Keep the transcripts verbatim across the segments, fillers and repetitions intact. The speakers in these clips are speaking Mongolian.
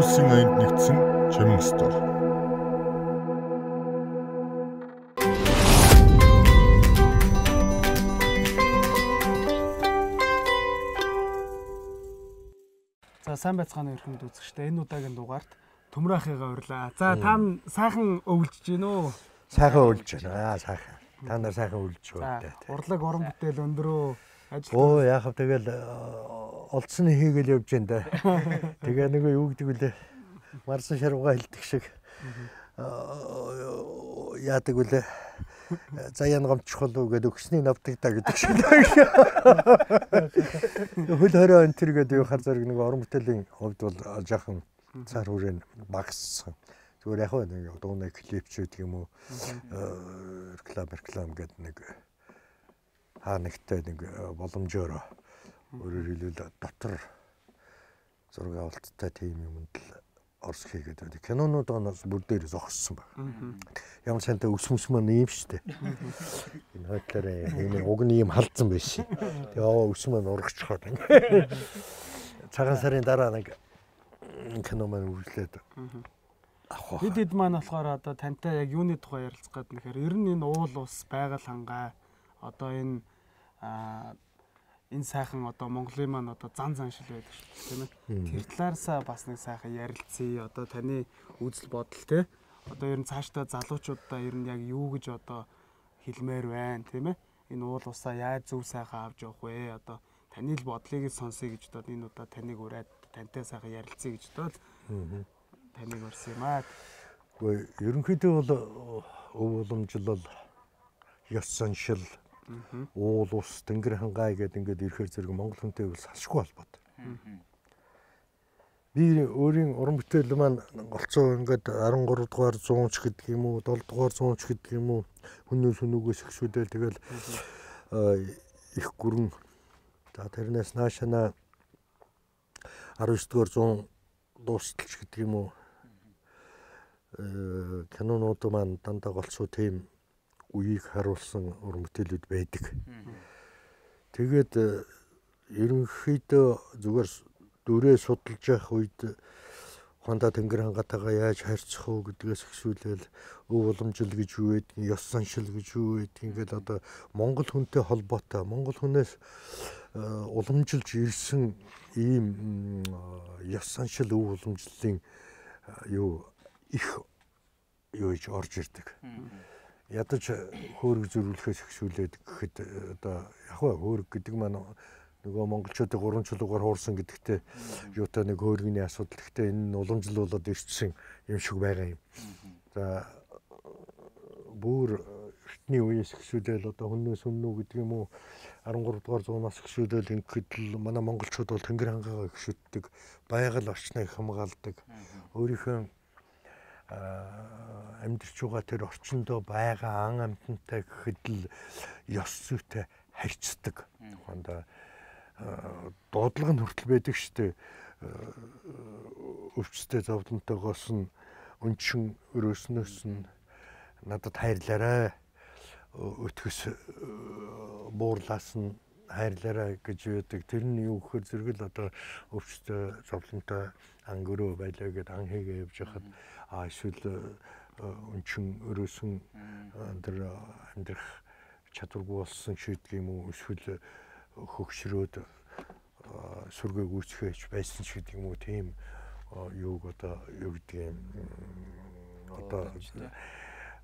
Улсын аянд нэгдсэн Чимэн стор. За сайн байцгаана өрхөнд үзэгчтэй. Энэ удаагийн дугаарт Төмрахыгаа урьлаа. За та сайхан өвлж гин үү? Сайхан өвлж байна. Аа сайхан. Та нар сайхан өвлж байна. Урлаг орон бүтээл өндөрөө ажил. Оо яах вэ тэгэл олдсны хийгээл явж байна да. Тэгээ нэг юу гэдэг вүлээ. Марсан шарвгаа хилдэг шиг яадаг вүлээ. Заяан гомчхол уу гэдэг өгсний навдаг та гэдэг шиг. Хөл хорой энэ төр гэдэг хар зэрэг нэг орон бүтээлийн хувьд бол жоохон цаар хүрээ багассан. Зүгээр яг нэг дууны клип ч гэдэг юм уу. Реклам реклам гэдэг нэг хаа нэгтэй нэг боломжоор өөрөөр хэлбэл дотор зураг авалттай тийм юмд л орс хийгээд байдаг. Кинонууд оноос бүр дээр зогссон байна. Ямар сантай өс мөс маань ийм штэ. Энэ хотлоор ийм уг нь ийм халдсан байсан. Тэгээ оо өс маань урагчхаад. Цагаан сарын дараа нэг кино маань үргэлжлээд авах. Хэд хэд маань болохоор одоо тантай яг юуны тухай ярилцах гэдэг нэхэр ер нь энэ уул ус байгаль хангай одоо энэ энэ сайхан одоо Монголын маань одоо зан заншил байдаг шүү тийм ээ. Тэр талаараасаа бас нэг сайхан ярилцъя. Одоо таны үзэл бодол те. Одоо ер нь цаашдаа залуучуудаа ер нь яг юу гэж одоо хэлмээр байна тийм ээ. Энэ уул усаа яаж зөв сайхан авч явах вэ? Одоо таны л бодлыг сонсъё гэж бодоод энэ удаа таныг ураад тантай сайхан ярилцъя гэж бодоод таныг урьсан юм аа. Гэхдээ ерөнхийдөө бол өв уламжлал ёс заншил уул ус тэнгэр хангай гэдэг ингээд ирэхээр зэрэг Монгол хүнтэй бол салшгүй холбоотой. Би өөрийн уран бүтээл маань голцоо ингээд арван гурав дугаар зуунч гэдэг юм уу, долоо дугаар зуунч гэдэг юм уу, хүнээс хүнүүгээс ихшүүдэл тэгэл их гүрэн. За тэрнээс наашаа арван девять дугаар зуун дуусталч гэдэг юм уу. Э кинонууд маань дандаа голцоо тийм үеийг харуулсан уран бүтээлүүд байдаг. Тэгээд ерөнхийдөө зүгээр дүрээ судалж явах үед Хонда тэнгэр хангатайгаа яаж харьцах уу гэдгээс эхшүүлэл өв уламжил гэж юу гэдэг, ёс заншил гэж юу гэдэг ингээд одоо Монгол хүнтэй холбоотой, Монгол хүнээс уламжилж ирсэн ийм ёс заншил өв уламжлалын юу их юу гэж орж ирдэг. Ядаж хөөрөг зөрүүлэхээс ихшүүлээд гэхэд одоо яг хөөрөг гэдэг маань нөгөө монголчуудын гурван чулуугаар хуурсан гэдэгтээ юутай нэг хөөргөний асуудал. Гэхдээ энэ нь уламжлуулаад ирсэн юм шиг байгаа юм. За бүр эртний үеэс ихшүүлэл одоо хүннээс хүннүү гэдэг юм уу арван гурав дугаар зуунаас ихшүүлэл ингээд л манай монголчууд бол тэнгэр хангаагаа ихшүүлдэг, байгаль орчныг хамгаалдаг, өөрийнхөө амьдарч байгаа тэр орчиндөө байгаа ан амьтантай гэхэд л ёс зүйтэй харьцдаг. Хондоо дуудлага нь хүртэл байдаг штэ. Өвчтэй зовлонтойгоос нь өнчин өрөөснөөс нь надад хайрлаарай. Өтгөс буурлаас нь хайрлаарай гэж үүдэг. Тэр нь юу гэхээр зэрэг л одоо өвчтэй зовлонтой ангөрөө байлаа гэд ан хийгээ явж хахад а эсвэл өнчин өрөөсөн тэр амьдрах чадваргүй болсон шийдэх юм уу эсвэл хөгшрөөд сүргээ гүйцэхэж байсан ч гэдэг юм уу тийм юуг одоо юу гэдэг юм одоо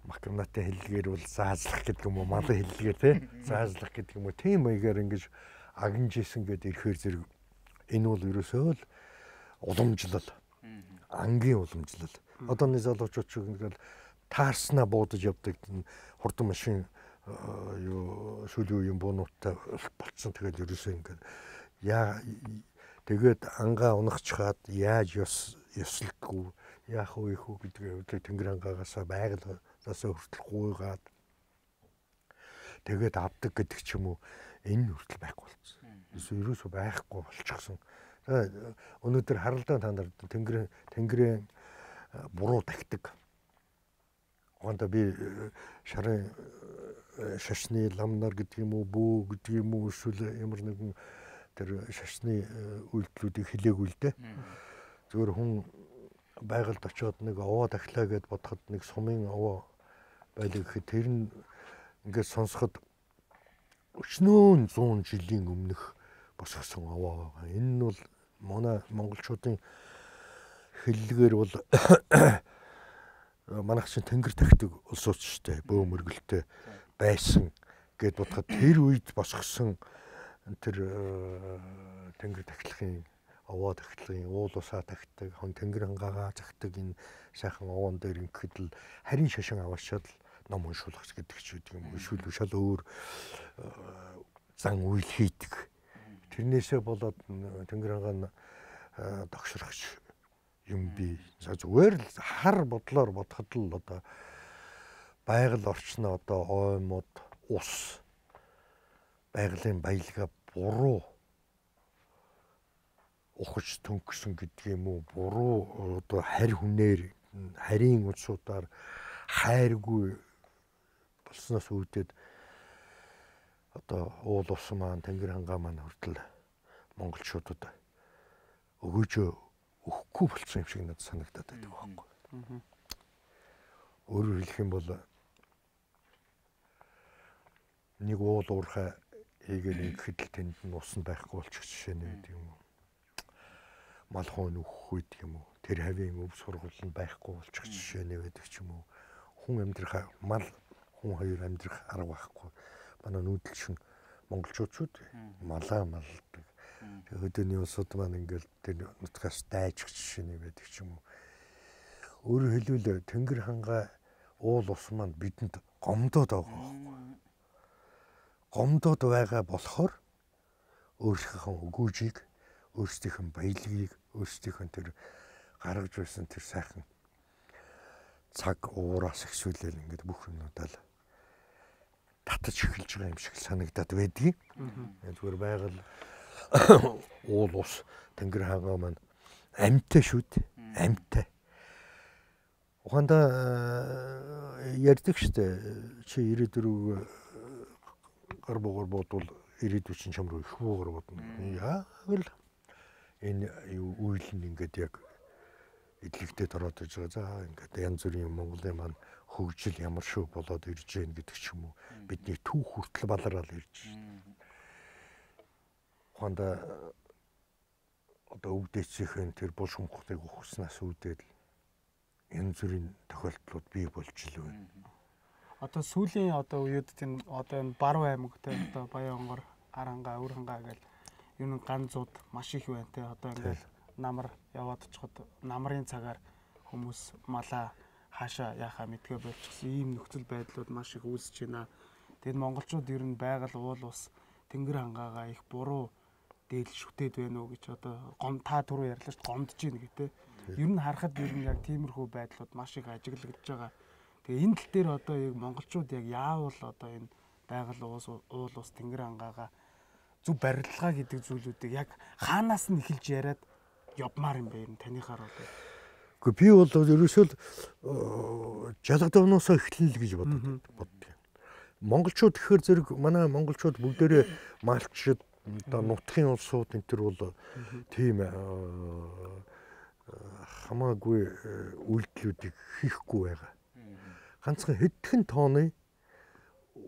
макнатын хэллэгээр бол заазлах гэдэг юм уу малын хэллэгээр тий заазлах гэдэг юм уу тийм маягаар ингэж агнжсэн гэдэг ирэхээр зэрэг энэ бол ерөөсөө л уламжлал ангийн уламжлал. Одооны залуучууд ч ингээл таарснаа буудаж явдаг хурдан машин юу сүүлийн үеийн буунуудтай болцсон. Тэгээд ерөөсөө ингээд яа тэгээд ангаа унахчхаад яаж ёс ёслоггүй яах вэ хүү гэдэг үеийг тэнгэр ангаагаасаа байгальгаасаа хүртэл гуйгаад тэгээд авдаг гэдэг ч юм уу энэ хүртэл байхгүй болсон. Эсвэл ерөөсөө байхгүй болчихсон. Өнөөдөр харалдаа та нар тэнгэрийн тэнгэрийн буруу тагтаг. Хондоо би шарын шашны ламнар гэдэг юм уу бүү гэдэг юм уу эсвэл ямар нэгэн тэр шашны үйлдэлүүдийг хэлээгүй л дээ. Зөвхөн хүн байгальд очиод нэг овоо дахлаа гэд бодоход нэг сумын овоо байлиг гэхэд тэр нь ингээд сонсоход өчнөө зуун жилийн өмнөх босгосон овоо байгаа. Энэ нь бол манай монголчуудын хэллэгээр бол манайх чинь тэнгэр тахдаг улсууч штэ бөө мөргөлтэй байсан гэд бодоход тэр үед босгосон тэр тэнгэр тахлахын овоо тахлахын уул усаа тахдаг хон тэнгэр хангаагаа захдаг энэ сайхан овоон дээр ингээд л харин шашин аваачаад ном уншуулах гэдэг ч үгүй юм. Эсвэл шал өөр зан үйл хийдэг. Тэрнээсээ болоод тэнгэр хангаа догшрохч юм би. За зүгээр л хар бодлоор бодоход л одоо байгаль орчноо одоо оймод ус байгалийн баялгаа буруу ухаж төнгөсөн гэдэг юм уу? Буруу одоо харь хүнээр харийн улсуудаар хайргүй болсноос үүдээд одоо уул ус маань тэнгэр хангаа маань хүртэл монголчуудад өгөөжөө өгөхгүй болсон юм шиг надад санагдаад байдаг байхгүй. Өөрөөр хэлэх юм бол нэг уул уурхай хийгээл ингэхэд л тэнд нь ус нь байхгүй болчих жишээ нь гэдэг юм уу. Мал хоон өгөх гэдэг юм уу. Тэр хавийн өв сургууль нь байхгүй болчих жишээ нь байдаг ч юм уу. Хүн амьдрах мал хүн хоёр амьдрах арга байхгүй. Манай нүүдэлшин монголчууд малаа малдаг. Өдөөний улсууд маань ингээл тэр нутгаас дайжих жишээ нь байдаг ч юм уу. Өөрөөр хэлбэл тэнгэр хангаа уул ус маань бидэнд гомдоод байгаа байхгүй. Гомдоод байгаа болохоор өөрсдийнхөө өгөөжийг, өөрсдийнхөө баялагийг, өөрсдийнхөө тэр гаргаж байсан тэр сайхан цаг уураас ихсүүлэл ингээд бүх юмудаа л татаж эхэлж байгаа юм шиг санагдаад байдгийг. Зүгээр байгаль уул ус тэнгэр хангаа маань амьтаа шүү дээ. Амьтаа. Ухаандаа ярьдаг штэ чи ирээдүрөө гар бугаар бодвол ирээдүйн чинь чамруу их буугаар бодно. Яг л энэ үйл нь ингээд яг эдлэгдээд ороод иж байгаа. За ингээд янз бүрийн Монголын маань хөгжил ямар шүү болоод ирж гэн гэдэг ч юм уу. Бидний түүх хүртэл балараад ирж байна. Ухаандаа одоо өвдөцийн тэр бул шумхтыг ухснаас үүдээд янз бүрийн тохиолдлууд бий болж л байна. Одоо сүүлийн одоо үеуд тийм одоо энэ Баруун аймагтай одоо Баянгор, Арангаа, Өрхангаа гэл энэ ганцууд маш их байна те. Одоо ингээд намар яваад очиход намрын цагаар хүмүүс малаа хаашаа яхаа мэдгээ болчихсон ийм нөхцөл байдлууд маш их үүсэж байна. Тэгэд монголчууд ер нь байгаль уул ус тэнгэр хангаагаа их буруу дээл шүтээд байна уу гэж одоо гом та түрүү ярьлаа ш гомдож байна гэдэг. Ер нь харахад ер нь яг тиймэрхүү байдлууд маш их ажиглагдж байгаа. Тэгээ энэ тал дээр одоо яг монголчууд яг яавал одоо энэ байгаль уус уул ус тэнгэр хангаагаа зөв барилгаа гэдэг зүйлүүдийг яг хаанаас нь эхэлж яриад явмаар юм бэ юм таныхаар бол. Гэхдээ би бол ерөөсөө жалгадавнаас эхэлнэ л гэж боддог боддог. Монголчууд гэхээр зэрэг манай монголчууд бүгдээрээ малчид одоо нутгийн улсууд энэ төр бол тийм хамаагүй үйлдэлүүдийг хийхгүй байгаа. Ганцхан хэдхэн тооны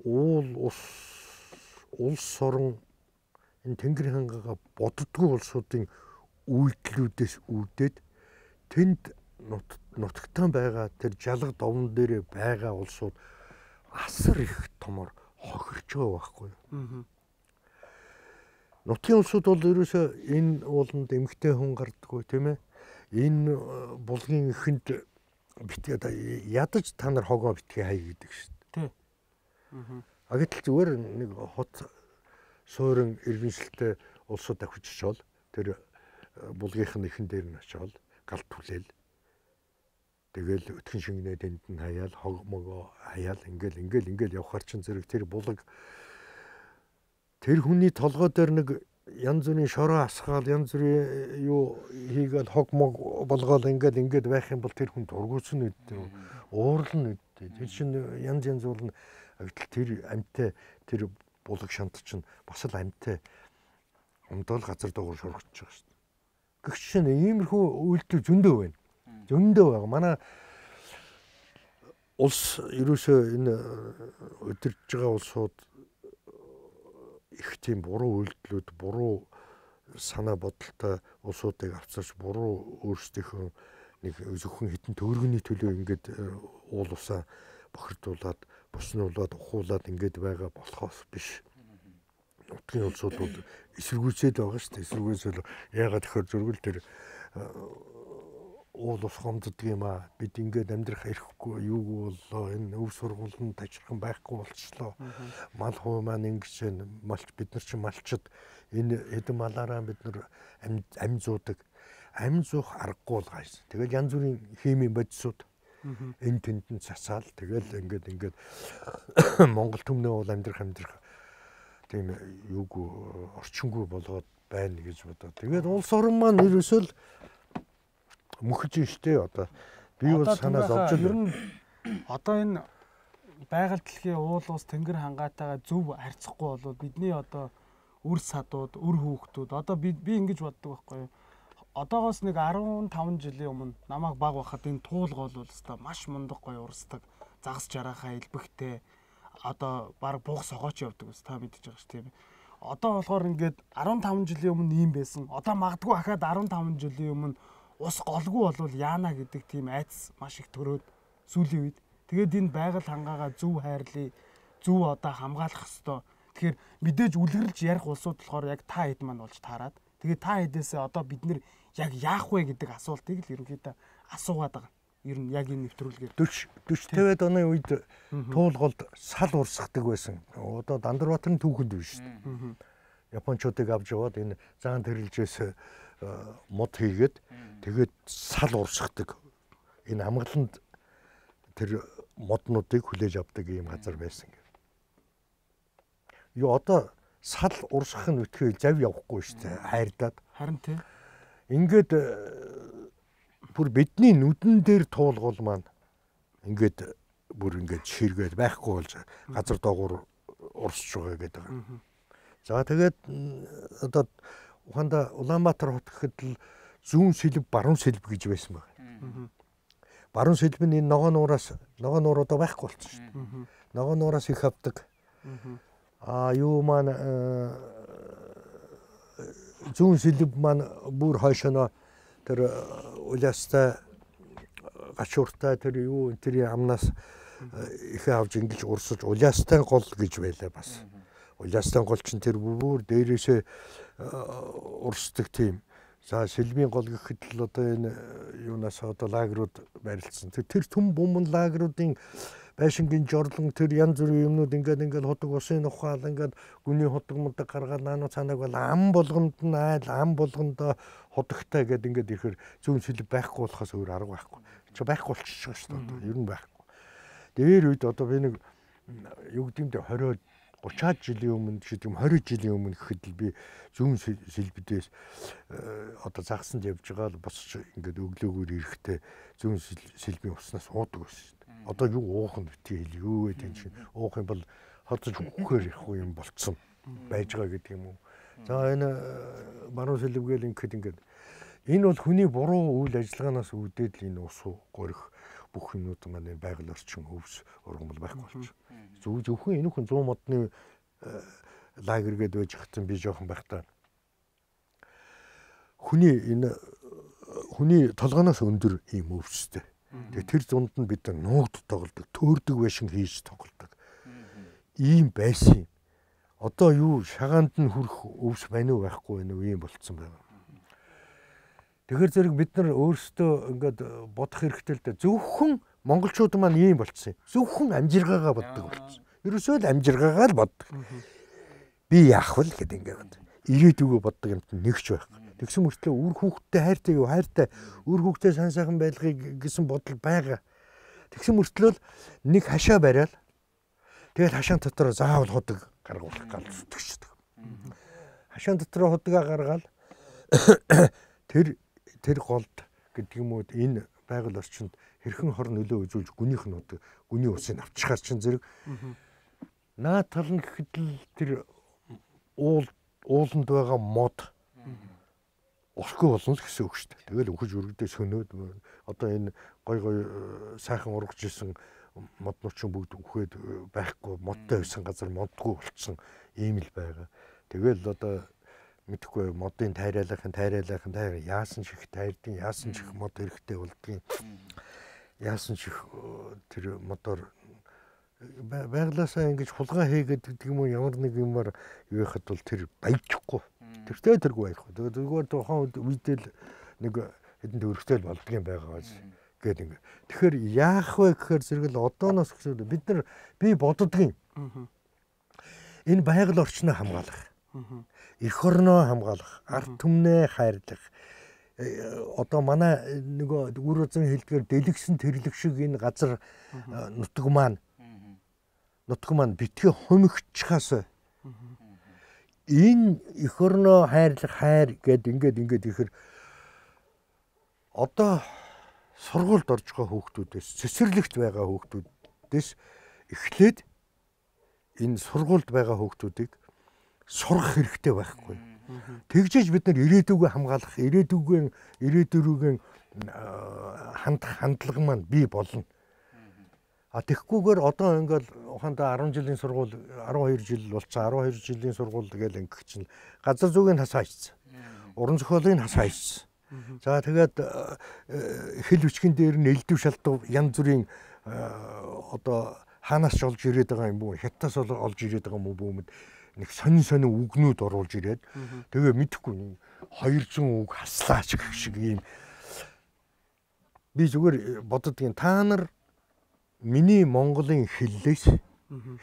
уул ус улс орон энэ тэнгэр хангаагаа боддгоо улсуудын үйлдэлүүдээс үүдээд тэнд нутагтаа байгаа тэр жалга довн дээр байгаа улсууд асар их томор хохирч байгаа байхгүй юу. Нутгийн улсууд бол ерөөсөө энэ ууланд эмгтэй хүн гардаггүй тийм ээ. Энэ булгийн ихэнд битээ ядаж та нар хогоо битгий хай гэдэг шүү дээ. Тий. А гэтэл зүгээр нэг хот суурин иргэншилтэй улсууд авчиж чол тэр булгийнх нь ихэн дээр нь очиод галт түлээл. Тэгэл өтгөн шингэнэ тэнд нь хаяал хог могоо хаяал ингээл ингээл ингээл явхаар чин зэрэг тэр булаг тэр хүний толгой дээр нэг янз бүрийн шороо асгаал янз бүрийн юу хийгээл хог мог болгоол ингээд ингээд байх юм бол тэр хүн дургуутсан үедээ уурлна үедээ тэр чинь янз янз болно. Гэтэл тэр амьтаа тэр булаг шант чинь бас л амьтаа өмдөөл газар дуугар шургаж байгаа шүү дээ. Гэгч чинь иймэрхүү үйлдэл зөндөө байна. зөндөө байгаа. Манай улс ерөөсөө энэ өдөрж байгаа улсууд их тийм буруу үйлдэлүүд, буруу санаа бодолтой улсуудыг авцарч буруу өөрсдийнхөө нэг зөвхөн хитэн төгрөгийн төлөө ингээд уул усаа бохирдуулаад, боснуулаад, ухуулаад ингээд байгаа болохоос биш. Нутгийн улсууд бол эсэргүүцээд байгаа шүү дээ. Эсэргүүцэл яагаад тэгэхээр зөргөл төр уул ус хомддог юм аа. Бид ингээд амьдрах эрхгүй юу боллоо. Энэ өв сургуулийн тажирхан байхгүй болчихлоо. Мал хуу маань ингэж малч бид нар чи малчд энэ хэдэн малаараа бид нар амь зуудаг. Амь зуух аргагүй бол гайс. Тэгэл янз бүрийн химийн бодисууд энэ тэндэн цасаал тэгэл ингээд ингээд Монгол төмнөө бол амьдрах амьдрах тийм юугүй орчингүй болоод байна гэж бодоо. Тэгээд улс орн маань ерөөсөө л мөхөж штэ одоо би бол санаа зовж байна. Одоо энэ байгаль дэлхийн уул ус тэнгэр хангаатайгаа зөв харьцахгүй болоод бидний одоо үр садууд, үр хүүхдүүд одоо би би ингэж боддог байхгүй юу? Одоогоос нэг арван таван жилийн өмнө намайг баг байхад энэ туулга бол өстой маш мундаг гоё урсдаг. Загас жарахаа илбэгтэй. Одоо баг буух согооч явдаг ус та мэдчихэж байгаа ш тийм. Одоо болохоор ингээд арван таван жилийн өмнө ийм байсан. Одоо магадгүй ахаад арван таван жилийн өмнө ус голгүй болвол яана гэдэг тийм айц маш их төрөөд сүүлийн үед. Тэгээд энэ байгаль хангаагаа зөв хайрлаа, зөв одоо хамгаалах ёстой. Тэгэхээр мэдээж үлгэрлж ярих улсууд болохоор яг та хэд маань болж таарад. Тэгээд та хэдээсээ одоо бид нэр яг яах вэ гэдэг асуултыг л ерөнхийдөө асуугаад байгаа. Ер нь яг энэ нэвтрүүлгээр дөрвөн тавиад оны үед туулголд сал урсгадаг байсан. Одоо Дандарбаатарын түүхэнд биш шүү дээ. Япончуудыг авч яваад энэ заан тэрэлжээс мод хийгээд тэгээд сал урсгадаг. Энэ амгаланд тэр моднуудыг хүлээж авдаг ийм газар байсан гэх. Юу одоо сал урсгах нь үтгэл зав явахгүй шүү дээ. Хайрдаад. Харин тий. Ингээд бүр бидний нүдэн дээр туулгуул маань ингээд бүр ингээд ширгээд байхгүй болж газар доогуур урсж байгаа гэдэг. За тэгээд одоо Ухаанда Улаанбаатар хот гэхэд л зүүн сэлб, баруун сэлб гэж байсан байна. Баруун сэлб нь энэ ногоо нуураас ногоо нуур одоо байхгүй болсон шүү дээ. Ногоо нуураас их авдаг. Аа юу маань зүүн сэлб маань бүр хойшоно тэр уляастай гачууртай тэр юу тэр амнаас их авж ингэж урсаж уляастай гол гэж байлаа бас. Уляастай гол чинь тэр бүр дээрээсээ урсдаг тийм. За сэлбийн гол гэхэд л одоо энэ юунаас одоо лагерууд барилдсан. Тэр тэр түн бумын лагеруудын байшингийн жорлон тэр янз бүрийн юмнууд ингээд ингээд ходог усын ухаал ингээд гүний ходог мудаг гаргаад наануу цаанаг бол ам болгонд нь айл ам болгондоо ходогтой гэдэг ингээд ирэхээр зүүн сэлб байхгүй болохоос өөр арга байхгүй. Чи байхгүй болчихж байгаа шүү дээ. Ер нь байхгүй. Дээр үед одоо би нэг юу гэдэмдээ тwenty гутраад жилийн өмнө гэдэг юм twenty жилийн өмнө гэхэд л би зүүн сэлбдээс одоо загсанд явж байгаа л босч ингээд өглөөгөр ирэхдээ зүүн сэлбийн уснаас уудаг байсан шүү дээ. Одоо юу уух нь битгий хэл юу гэдэг юм чинь уух юм бол хоцож өгөхээр их юм болцсон байж байгаа гэдэг юм уу. За энэ баруун сэлбгээл ингээд ингээд энэ бол хүний буруу үйл ажиллагаанаас үүдээд л энэ ус горих бүх юмнууд маань байгаль орчин хөвс ургамал байхгүй болчих. Зөв зөвхөн энэ хүн cent модны лагер гээд байж хатсан би жоохон байхдаа хүний энэ хүний толгоноос өндөр ийм өвстэй. Тэгээ тэр зунд нь бид нуугд тоглодог, төөрдөг байшин хийж тоглодог. Ийм байсан. Одоо юу шагаанд нь хүрэх өвс байна уу байхгүй байна уу ийм болцсон байна. Тэгэхээр зэрэг бид нар өөрсдөө ингээд бодох хэрэгтэй л дээ. Зөвхөн монголчууд маань ийм болцсон. Зөвхөн амжиргаагаа боддог болцсон. Ерөөсөө л амжиргаагаа л боддог. Би яах вэ гэдэг ингээд ирээдүгөө боддог юмт нэгч байхгүй. Тэгсэн мөртлөө үр хүүхдтэй хайртай юу хайртай үр хүүхдтэй сан сайхан байлгыг гэсэн бодол байгаа. Тэгсэн мөртлөө нэг хашаа бариад тэгээд хашаан дотор заавал худаг гаргуулах гал зүтгэждэг. Хашаан дотор худгаа гаргаад тэр тэр голд гэдэг юм уу энэ байгаль орчинд хэрхэн хор нөлөө үзүүлж гүнийх нь удаг гүний усыг авчихаар чинь зэрэг наа тал нь гэхэд л тэр уул ууланд байгаа мод усгүй болно л гэсэн үг шүү дээ. Тэгэл өгөж өргөдөө сөнөөд одоо энэ гой гой сайхан ургаж исэн моднуучин бүгд үхээд байхгүй модтой байсан газар модгүй болцсон ийм л байгаа. Тэгэл одоо мэдхгүй модын тайрайлахын тайрайлахын тайр яасан чих тайрдیں۔ Яасан чих мод хэрэгтэй болдгийг. Яасан чих тэр модоор байглаасаа ингэж хулгай хийгээд гэдэг юм уу ямар нэг юмар юу яхад бол тэр баяжхгүй. Тэртээ тэргүй байхгүй. Тэгээд зүгээр тухайн үедэл нэг хэдэн төгрөгтэй болдгийн байгаа гээд ингэ. Тэгэхээр яах вэ гэхээр зэрэгэл одооноос гэсэн бид нар би боддгийн. Энэ байгаль орчноо хамгаалах. Эх орноо хамгаалах, ард түмнээ хайрлах. Одоо манай нөгөө үр үзэн хэлдгээр дэлгсэн тэрлэг шиг энэ газар нутаг маань нутаг маань битгий хумигчхаас энэ эх орноо хайрлах хайр гэд ингээд ингээд ихэр одоо сургуульд орж байгаа хүүхдүүдээс цэцэрлэгт байгаа хүүхдүүдээс эхлээд энэ сургуульд байгаа хүүхдүүдийг сурах хэрэгтэй байхгүй. Тэгжээж бид нар ирээдүгөө хамгаалах, ирээдүгөө ирээдүрүүгээ хандах хандлага маань бий болно. А тэгхгүйгээр одоо ингээл ухаандаа арван жилийн сургууль арван хоёр жил болцсон арван хоёр жилийн сургууль тэгэл ингэх чинь газар зүйн хасаа хийсэн. Уран зохиолын хасаа хийсэн. За тэгээд хэл бичгэн дээр нь элдв шалдав янз бүрийн одоо хаанаас ч олж ирээд байгаа юм бүү хятадаас олж ирээд байгаа юм бүү нэг сонин сонин үгнүүд оруулж ирээд тэгээ мэдхгүй хоёрзуун үг хаслаач гэх шиг юм. Би зүгээр боддгийн та нар миний Монголын хэллээс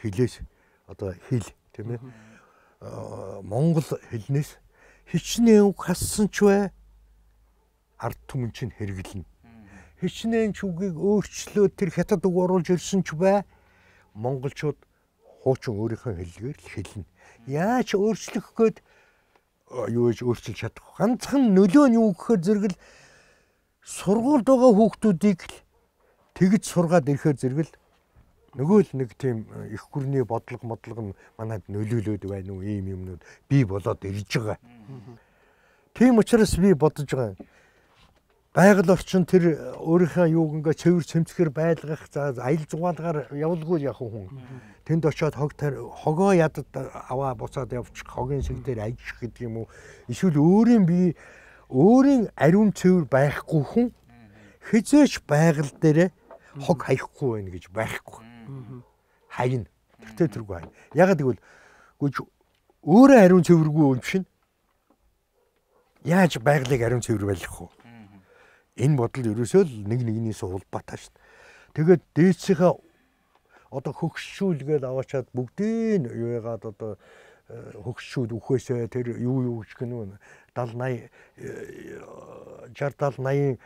хэлээс одоо хэл тийм ээ Монгол хэлнээс хичнээн үг хассан ч бай ард түмэн чинь хэрэглэнэ. Хичнээн ч үгийг өөрчлөөд тэр хятад үг оруулж ирсэн ч бай монголчууд хуучин өөрийнхөө хэллэгээр л хэлнэ. Яаж өөрчлөх гээд юу гэж өөрчилж чадах. Ганцхан нөлөө нь юу гэхээр зэрэгэл сургуульд байгаа хүүхдүүдийг л тэгж сургаад ирэхээр зэрэгэл нөгөө л нэг тийм их гүрний бодлого модлого нь манайд нөлөөлөд байна уу ийм юмнууд бий болоод ирж байгаа. Тийм учраас би бодож байгаа. Байгаль орчин тэр өөрийнхөө юуг ингээ цэвэр цэмцгэр байлгах за аял зугаалгаар явуулгүй яг хүн. Тэнд очиод хог хогоо ядад аваа буцаад явчих хогийн шиг дээр ажих гэдэг юм уу. Эсвэл өөрийн бие өөрийн ариун цэвэр байхгүй хүн хизээч байгаль дээр хог хаяхгүй байх гэж байхгүй. Хайна. Тэртээ тэргүй хайна. Ягаад гэвэл гүйж өөрөө ариун цэвэргүй юм шин. Яаж байгалыг ариун цэвэр байлгах вэ? Энэ бодол ерөөсөө л нэг нэгнээс улбаатай шүү дээ. Тэгээд дээдсийнхээ одоо хөгшшүүлгээд аваачаад бүгдийг юу яагаад одоо хөгшшүүд үхээсээ тэр юу юу гэх юм даал шейдесят даал восемьдесят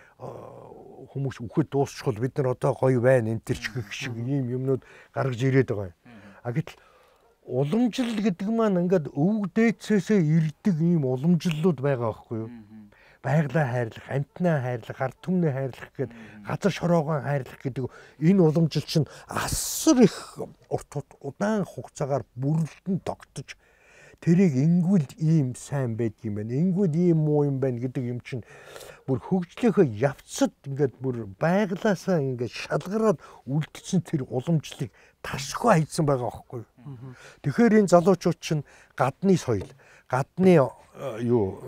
хүмүүс үхэж дуусчихвол бид нар одоо гоё байна энэ төр ч гэх шиг ийм юмнууд гаргаж ирээд байгаа юм. А гэтэл уламжлал гэдэг маань ингээд өвөг дээдсээсээ ирдэг ийм уламжлалууд байгаа байхгүй юу? Байгалаа хайрлах, амтнаа хайрлах, ард түмнээ хайрлах гэд газар шороогоо хайрлах гэдэг энэ уламжлал чинь асар их урт удаан хугацаагаар бүрэлдэн тогтож тэрийг ингүүл ийм сайн байдгийм байна. Ингүүл ийм муу юм байна гэдэг юм чинь бүр хөгжлийнхөө явцад ингээд бүр байгалаасаа ингээд шалгараад үлдсэн тэр уламжлалыг тасгүй хайцсан байгаа байхгүй юу? Тэгэхээр энэ залуучууд чинь гадны соёл, гадны юу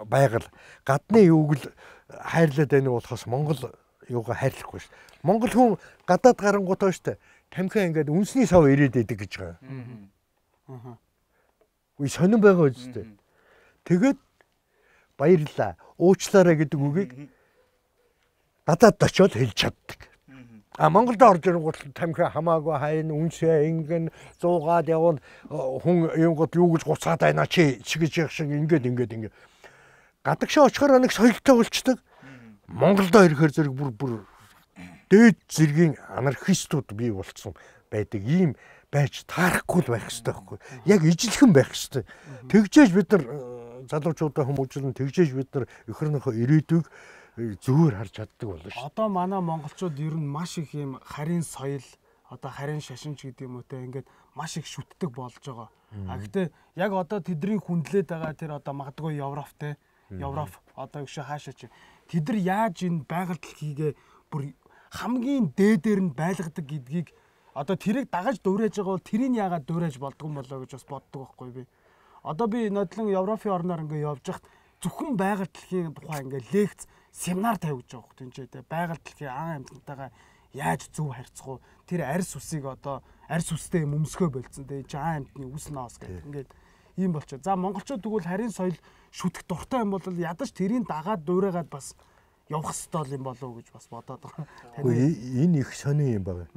байгаль, гадны юуг л хайрлаад байна болохоос Монгол юугаа хайрлахгүй шүү. Монгол хүн гадаад гарангуутаа шүү дээ. Тамхиа ингээд үнсний сав ирээд идэг гэж байгаа. Аа. Үгүй сонирн байгаа үстэй. Тэгээд баярлаа. Уучлаарай гэдэг үгийг гадаад очиод хэлж чаддаг. А Монголд орж ирэнгүүт тамхиа хамаагүй хайна үнсээ ингэн зуугаад явал хүн юугод юу гэж гуцаад байна чи чигэж явах шиг ингээд ингээд ингээд гадагшаа очихоор нэг соёлтой болчдөг. Монголдо ирэхээр зэрэг бүр бүр дээд зэргийн анархистууд бий болцсон байдаг. Ийм байж таарахгүй л байх хэрэгтэй байхгүй. Яг ижилхэн байх хэрэгтэй. Тэгжээж бид нар залуучуудаа хүмүүжлэн тэгжээж бид нар өхөрнөхөө ирээдүйг зүгээр харж чаддаг болно шүү. Одоо манай монголчууд ер нь маш их юм харийн соёл, одоо харийн шашинч гэдэг юм уу те ингээд маш их шүтдэг болж байгаа. А гэтээ яг одоо тэдний хүндлээд байгаа тэр одоо магадгүй Европ те Европ одоо гişэ хаашаа чи тэд нар яаж энэ байгаль дэлхийгээ бүр хамгийн дээдээр нь байлгадаг гэдгийг одоо тэрийг дагаж дуурайж байгаа бол тэрийг яагаад дуурайж болдгоо болоо гэж бас боддог байхгүй би. Одоо би нодлон Европын орноор ингээ явж хахад зөвхөн байгаль дэлхийн тухай ингээ лекц семинар тавьж байгаа хөөх тийм ч те байгаль дэлхийн аан амьтантайгаа яаж зөв харьцах уу тэр арьс усыг одоо арьс устэй юм өмсгөө болцсон те аан амьтны үс ноос гэх ингээд ийм болчихоо. За монголчууд тэгвэл харийн соёл шүтэх дуртай юм бол ядаж тэрийг дагаад дуурайгаад бас явах ёстой юм болов уу гэж бас бодоод байгаа. Энэ их сони юм байна.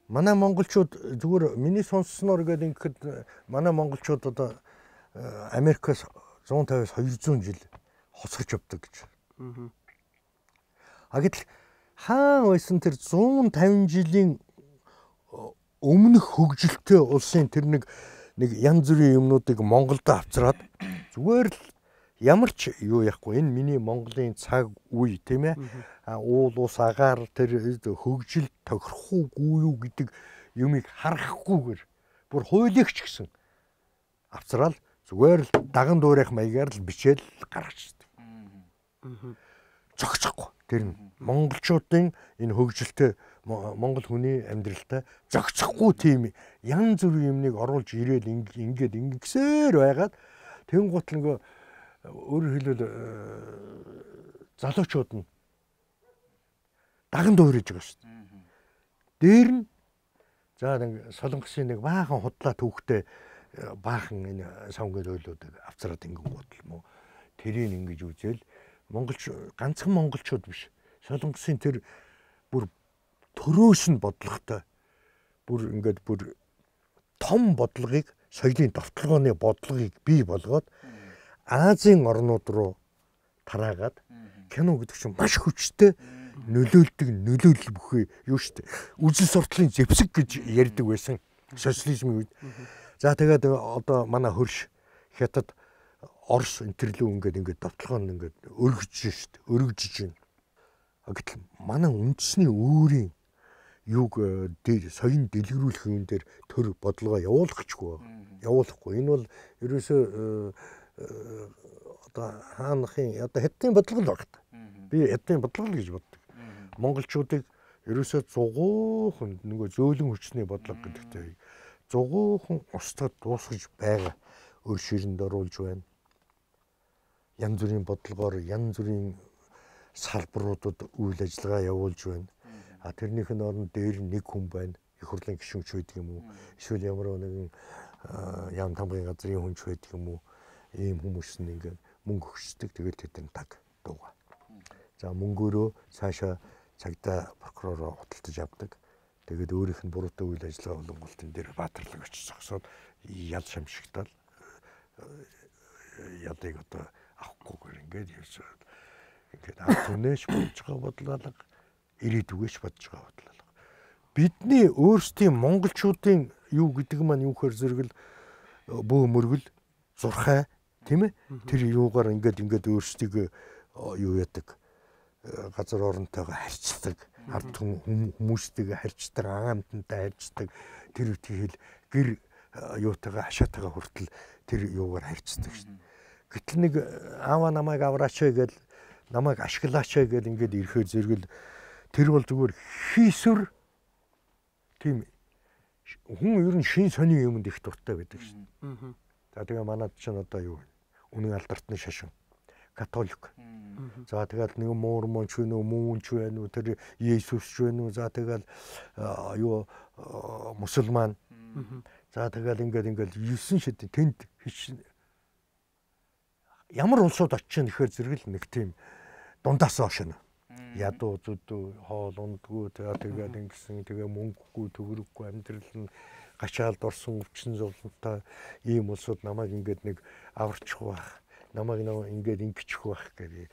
Манай монголчууд зүгээр миний сонссноор гэдэг ингээд манай монголчууд одоо Америкаас one fifty-аас two hundred жил хоцорч явдаг гэж. А гэтэл хаан байсан тэр one fifty жилийн өмнөх хөгжилтэй улсын тэр нэг нэг янз бүрийн юмнуудыг Монголд авчраад зүгээр л ямар ч юу яахгүй энэ миний Монголын цаг үе тийм ээ уул ус агаар тэр хөгжил тохирохгүй юу гэдэг юмыг харахгүйгээр бүр хуулигч гэсэн авцраал зүгээр л даган дуурайх маягаар л бичээл гаргачихдаг. Зогцохгүй тэр нь монголчуудын энэ хөгжилтэй монгол хүний амьдралтай зогцохгүй тийм янз бүрийн юмныг оруулж ирээл ингээд ингэсээр байгаад тэнгуут нөгөө өөрөөр хэлбэл залуучууд нь даган дуурайж байгаа шүү дээ. Дээр нь за нэг солонгосын нэг баахан худлаа түүхтэй баахан энэ савнгийн ойлуудыг авцраад ингэн бодол мó тэрийг ингэж үзэл монголч ганцхан монголчууд биш солонгосын тэр бүр төрөөс нь бодлоготой бүр ингээд бүр том бодлогыг соёлын довтлогооны бодлогыг бий болгоод Азийн орнууд руу тараагаад кино гэдэг чинь маш хүчтэй нөлөөлдөг нөлөөлөл бүхий юу штэ үзэл сурталын зэвсэг гэж ярьдаг байсан социализмын үед. За тэгээд одоо манай хөрш хятад Орос энтэрлүү ингээд ингээд довтлогоо ингээд өргөж штэ өргөжж байна. Гэтэл манай үндэсний өөрийн юг дээр соён дэлгэрүүлэх юм дээр төр бодлогоо явуулахгүй явуулахгүй. Энэ бол ерөөсөө одоо хаанахын одоо хэдийн бодлого л багт. Би хэдийн бодлого л гэж боддог. Монголчуудыг ерөөсөө зугуухан нөгөө зөөлөн хүчний бодлого гэдэгтэй зугуухан устгад дуусгаж байгаа өр ширэнд оруулж байна. Янз бүрийн бодлогоор янз бүрийн салбаруудад үйл ажиллагаа явуулж байна. А тэрнийх нь орон дээр нэг хүн байна. Их хурлын гишүүнч байдаг юм уу? Эсвэл ямар нэгэн яам тамгын газрын хүнч байдаг юм уу? Ийм хүмүүс нь ингээд мөнгө өгчдөг. Тэгээд тэдэн таг дууга. За мөнгөөрөө цаашаа цагдаа прокуророо худалдаж авдаг. Тэгээд өөрийнх нь буруутай үйл ажиллагаа болонгуултын дээр баатарлаг очиж зогсоод ял шамшигтал ядыг одоо авахгүйгээр ингээд ерөөсөө ингээд ард түнээш бодж байгаа бодлоо ирээдүгээс бодж байгаа бодлоо. Бидний өөрсдийн монголчуудын юу гэдэг маань юу хэр зэрэгэл бөө мөргөл зурхай тийм ээ тэр юугаар ингээд ингээд өөрсдийг юу яадаг газар оронтойгоо харьцдаг ард хүмүүстэйгээ харьцдаг аамтантай харьцдаг тэр үтгэл гэр юутайгаа хашаатайгаа хүртэл тэр юугаар харьцдаг шин. Гэтэл нэг аава намайг авраач гэл намайг ашиглаач гэл ингээд ирэхээр зэрэгэл тэр бол зүгээр хийсвэр тийм хүн ер нь шин сони юмд их дуртай байдаг шин. За тэгээ манад чинь одоо юу үнэн алдартны шашин католик. За тэгэл нэг мормонч вэ нүү муунч вэ нүү тэр Есүс вэ нүү за тэгэл юу мусульман. За тэгэл ингээд ингээд юусэн шид тэнд ямар улсууд очиж нэхэр зэрэгэл нэг тийм дундаас оошно. Ядуу зүдүү хоол ундгүй тэгээд ингэсэн тэгээ мөнгөгүй төгрөггүй амьдрал нь гачаалд орсон өвчин зовлонтой ийм улсууд намайг ингээд нэг аварчих байх намайг нэг ингээд ингэчих байх гэдэг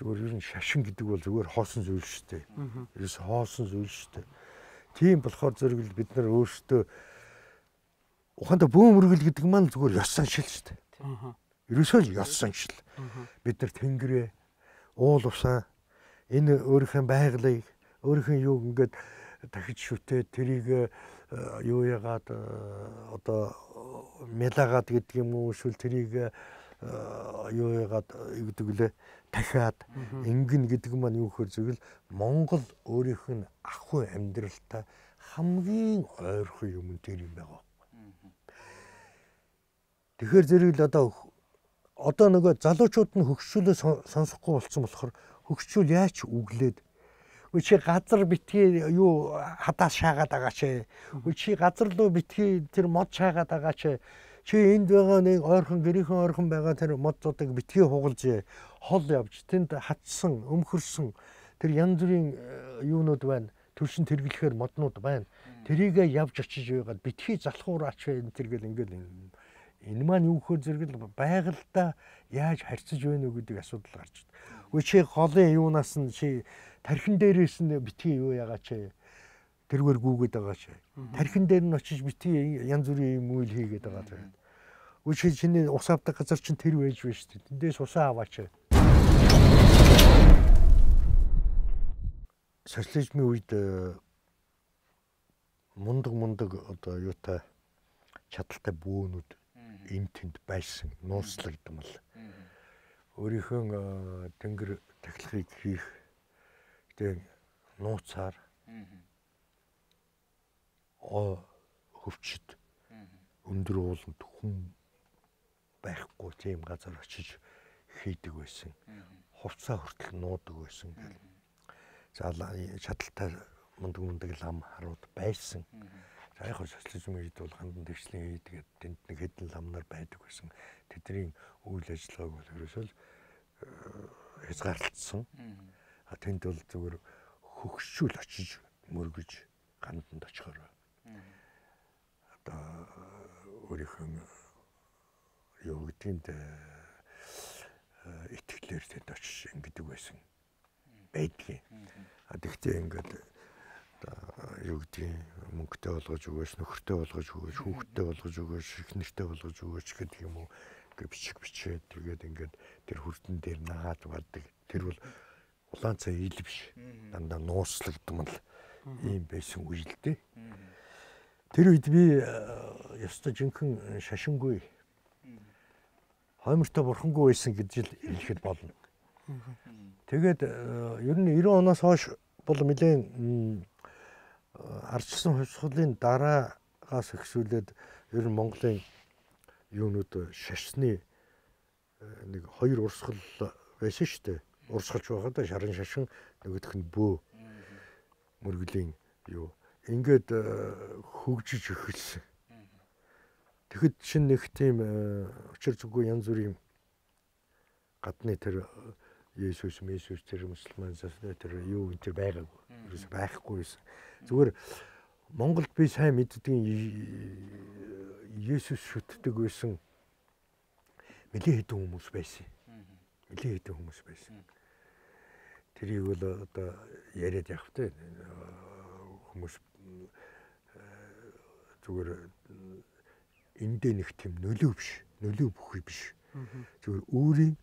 зүгээр ер нь шашин гэдэг бол зүгээр хоосон зүйл шүү дээ. Ерөөс хоосон зүйл шүү дээ. Тийм болохоор зэрэгэл бид нар өөрсдөө ухаандаа бөөмөргөл гэдэг маань зүгээр ёс заншил шүү дээ. Ерөөсөө л ёс заншил. Бид нар тэнгэрээ уул усаа энэ өөрийнхөө байгалыг өөрийнхөө юу ингээд дахиж шүтээ тэрийг юу яагаад одоо мелагаад гэдэг юм уу эсвэл тэрийг юу яагаад гэдэг лээ дахиад ингэн гэдэг маань юу гэхээр зөвл Монгол өөрийнх нь ахуй амьдралтай хамгийн ойрхон юм тэр юм байгаа. Тэгэхээр зэрэг л одоо одоо нөгөө залуучууд нь хөгжүүлээ сонсохгүй болсон болохоор хөгжүүл яач үглээд чи газар битгий юу хадаас шаагаад байгаа ч чи газар руу битгий тэр мод шаагаад байгаа ч чи энд байгаа нэг ойрхон гэрийнхэн ойрхон байгаа тэр модуудыг битгий хугалж хол явж тэнд хатсан өмхөрсөн тэр янз бүрийн юунууд байна төршин тэргэлэхээр моднууд байна тэрийг явж очиж байгаад битгий залхуураач энэ тэр гэл ингээл энэ маань юу гэхээр зэрэг байгальдаа яаж харьцаж байна уу гэдэг асуудал гарч байна. Үгүй чи голын юунаас нь чи тархин дээрээс нь битгий юу яагаач тэргээр гүгээд байгаа ч. Тархин дээр нь очиж битгий янз бүрийн юм үйл хийгээд байгаа ч. Үгүй чи чиний ус авдаг газар чинь тэр байж байна шүү дээ. Тэндээс усаа аваач. Социализмын үед мундаг мундаг одоо юутай чадaltaй бөөнүүд энэ тэнд байсан нууцлагдмал. Өөрийнхөө тэнгэр тахилгыг хийх гэдэг нууцаар оо хөвчд өндөр ууланд хүн байхгүй тийм газар очиж хийдэг байсан. Хувцаа хүртэл нуудаг байсан гэл. За чадaltaй мундаг мундаг лам харууд байсан. За яг социализм үед бол хандан дэвшлийн хийгээд тэнд нэг хэдэн ламнаар байдаг байсан. Тэдний үйл ажиллагааг бол ерөөсөө хязгаарлагдсан. А тэнд бол зөвхөн хөгшүүл очиж мөргөж ганданд очихоор одоо өөрийнхөө юу гэдгийг итгэлээр тэнд очиж ингэдэг байсан байдгийг. А тэгтээ ингээд юу гэдгийг мөнгөтэй болгож өгөөч, нөхөртэй болгож өгөөч, хүүхэдтэй болгож өгөөч, эхнэртэй болгож өгөөч гэдэг юм уу гэ бичиг бичээд тэгээд ингээд тэр хүрдэн дээр наагаад бардаг. Тэр бол улаан цай ил биш. Дандаа нууцлагдмал ийм байсан үйл дээ. Тэр үед би ёстой жинхэнэ шашингүй хоймортой бурхангүй байсан гэж л хэлэхэд болно. Тэгээд ер нь девяносто оноос хойш бол нэлээд ардчсан хувьсгалын дараагаас ихсүүлээд ер нь Монголын юунууд шашны нэг хоёр урсгал байсан шүү дээ. Урсгалж байгаад шарын шашин нөгөөх нь бөө мөргөлийн юу ингээд хөгжиж эхэлсэн. Тэгэхэд чинь нэг тийм учир зүггүй янз бүрийн гадны тэр Есүс, Месүс тэр мусульман тэр юу энэ тэр байгаагүй. Ерөөс байхгүй байсан. Зүгээр Монголд би сайн мэддэг Есүс шүтдэг байсан нэлээд хэдэн хүмүүс байсан. Нэлээд хэдэн хүмүүс байсан. Тэрийг бол одоо яриад явах тэ хүмүүс зүгээр эндээ нэг тийм нөлөө биш, нөлөө бүхий биш. Зүгээр өөрийн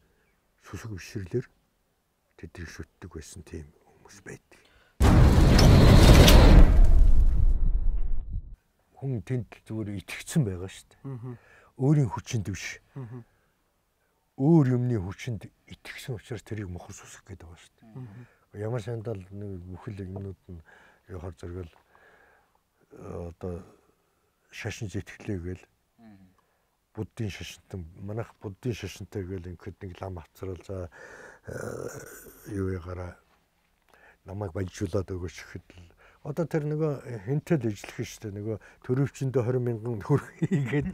сүсэг бишрлэр тэдрийг шүтдэг байсан тийм хүмүүс байдаг. Хүн тэнд зүгээр итгэцэн байгаа шүү дээ. Өөрийн хүчинд биш. Өөр юмны хүчинд итгэсэн учраас тэрийг мохор сүсэх гэдэг байгаа шүү дээ. Ямар сандал нэг бүхэл юмнууд нь яхаар зэрэгэл одоо шашин зэтгэлээгээл буддын шашинтай манайх буддын шашинтай гээл ингээд нэг лам авцрал за юу ягаараа намайг баяжуулаад өгөөч гэхэд л одоо тэр нөгөө хинтэл ижлэх шүү дээ нөгөө төрөвчөндөө двадцать мянган төгрөг ингээд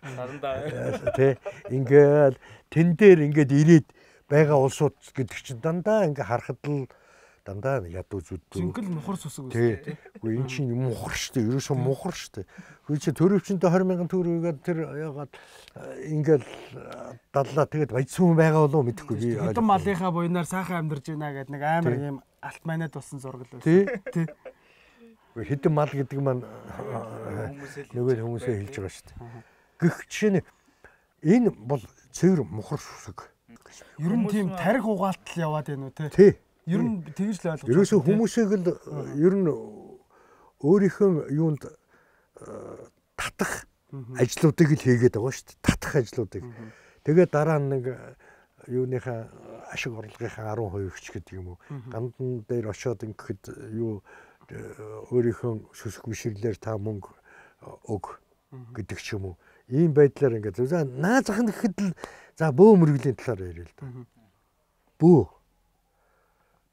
сарандаа тий ингээд тэн дээр ингээд ирээд байгаа улсууд гэдэг чинь дандаа ингээд харахад л дандаа ядуу зүдүү. Жингэл мухар сүсэг үстэй тий. Үгүй эн чинь мухар шүү дээ. Ерөөсөө мухар шүү дээ. Үгүй чи төрөвчөндөө двадцать мянган төгрөгийг тэр яагаад ингээл даллаа тэгээд баяцсан байгаа болов мэдэхгүй би. Хэдэн малынхаа буйнаар сайхан амьдарч байна гэдэг нэг амар юм алт манад болсон зураг л байсан. Тий. Үгүй хэдэн мал гэдэг маань нөгөө хүмүүсээ хэлж байгаа шүү дээ. Гэх чинь энэ бол цэвэр мухар сүсэг. Ер нь тийм тарих угаалтал яваад байна уу тий. Ер нь тэгж л ойлгож байна. Ерөөсөө хүмүүсийг л ер нь өөрийнхөө юунд татах ажлуудыг л хийгээд байгаа шүү дээ. Татах ажлуудыг. Тэгээд дараа нь нэг юуныхаа ашиг орлогынхаа арван хувийг ч гэдэг юм уу. Гандан дээр очиод ингэхэд юу өөрийнхөө сүсг биширлэр та мөнгө өг гэдэг ч юм уу. Ийм байдлаар ингээд за наазах нь гэхэд л за бөө мөргөлийн талаар ярил л да. Бөө.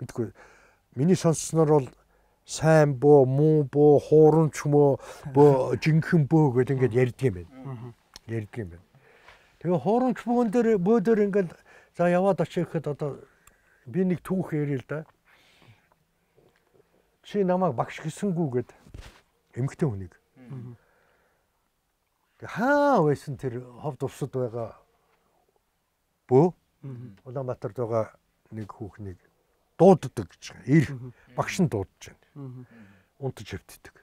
Бидгүй миний сонссноор бол сайн бөө, муу бөө, хуурамч мөө, бөө жинхэнэ бөө гэдэг ингээд ярьдаг юм байна. Ярьдаг юм байна. Тэгээ хуурамч бөөн дээр бөө дээр ингээд за яваад очиход одоо би нэг түүх ярил л да. Чи намайг багш гисэнгүү гэд эмгтэн хүнийг. Хаа байсан тэр ховд усад байгаа бөө Улаанбаатарт байгаа нэг хүүхнийг дууддаг гэж байгаа. Ир багш нь дуудаж байна. Унтаж хөвтдөг.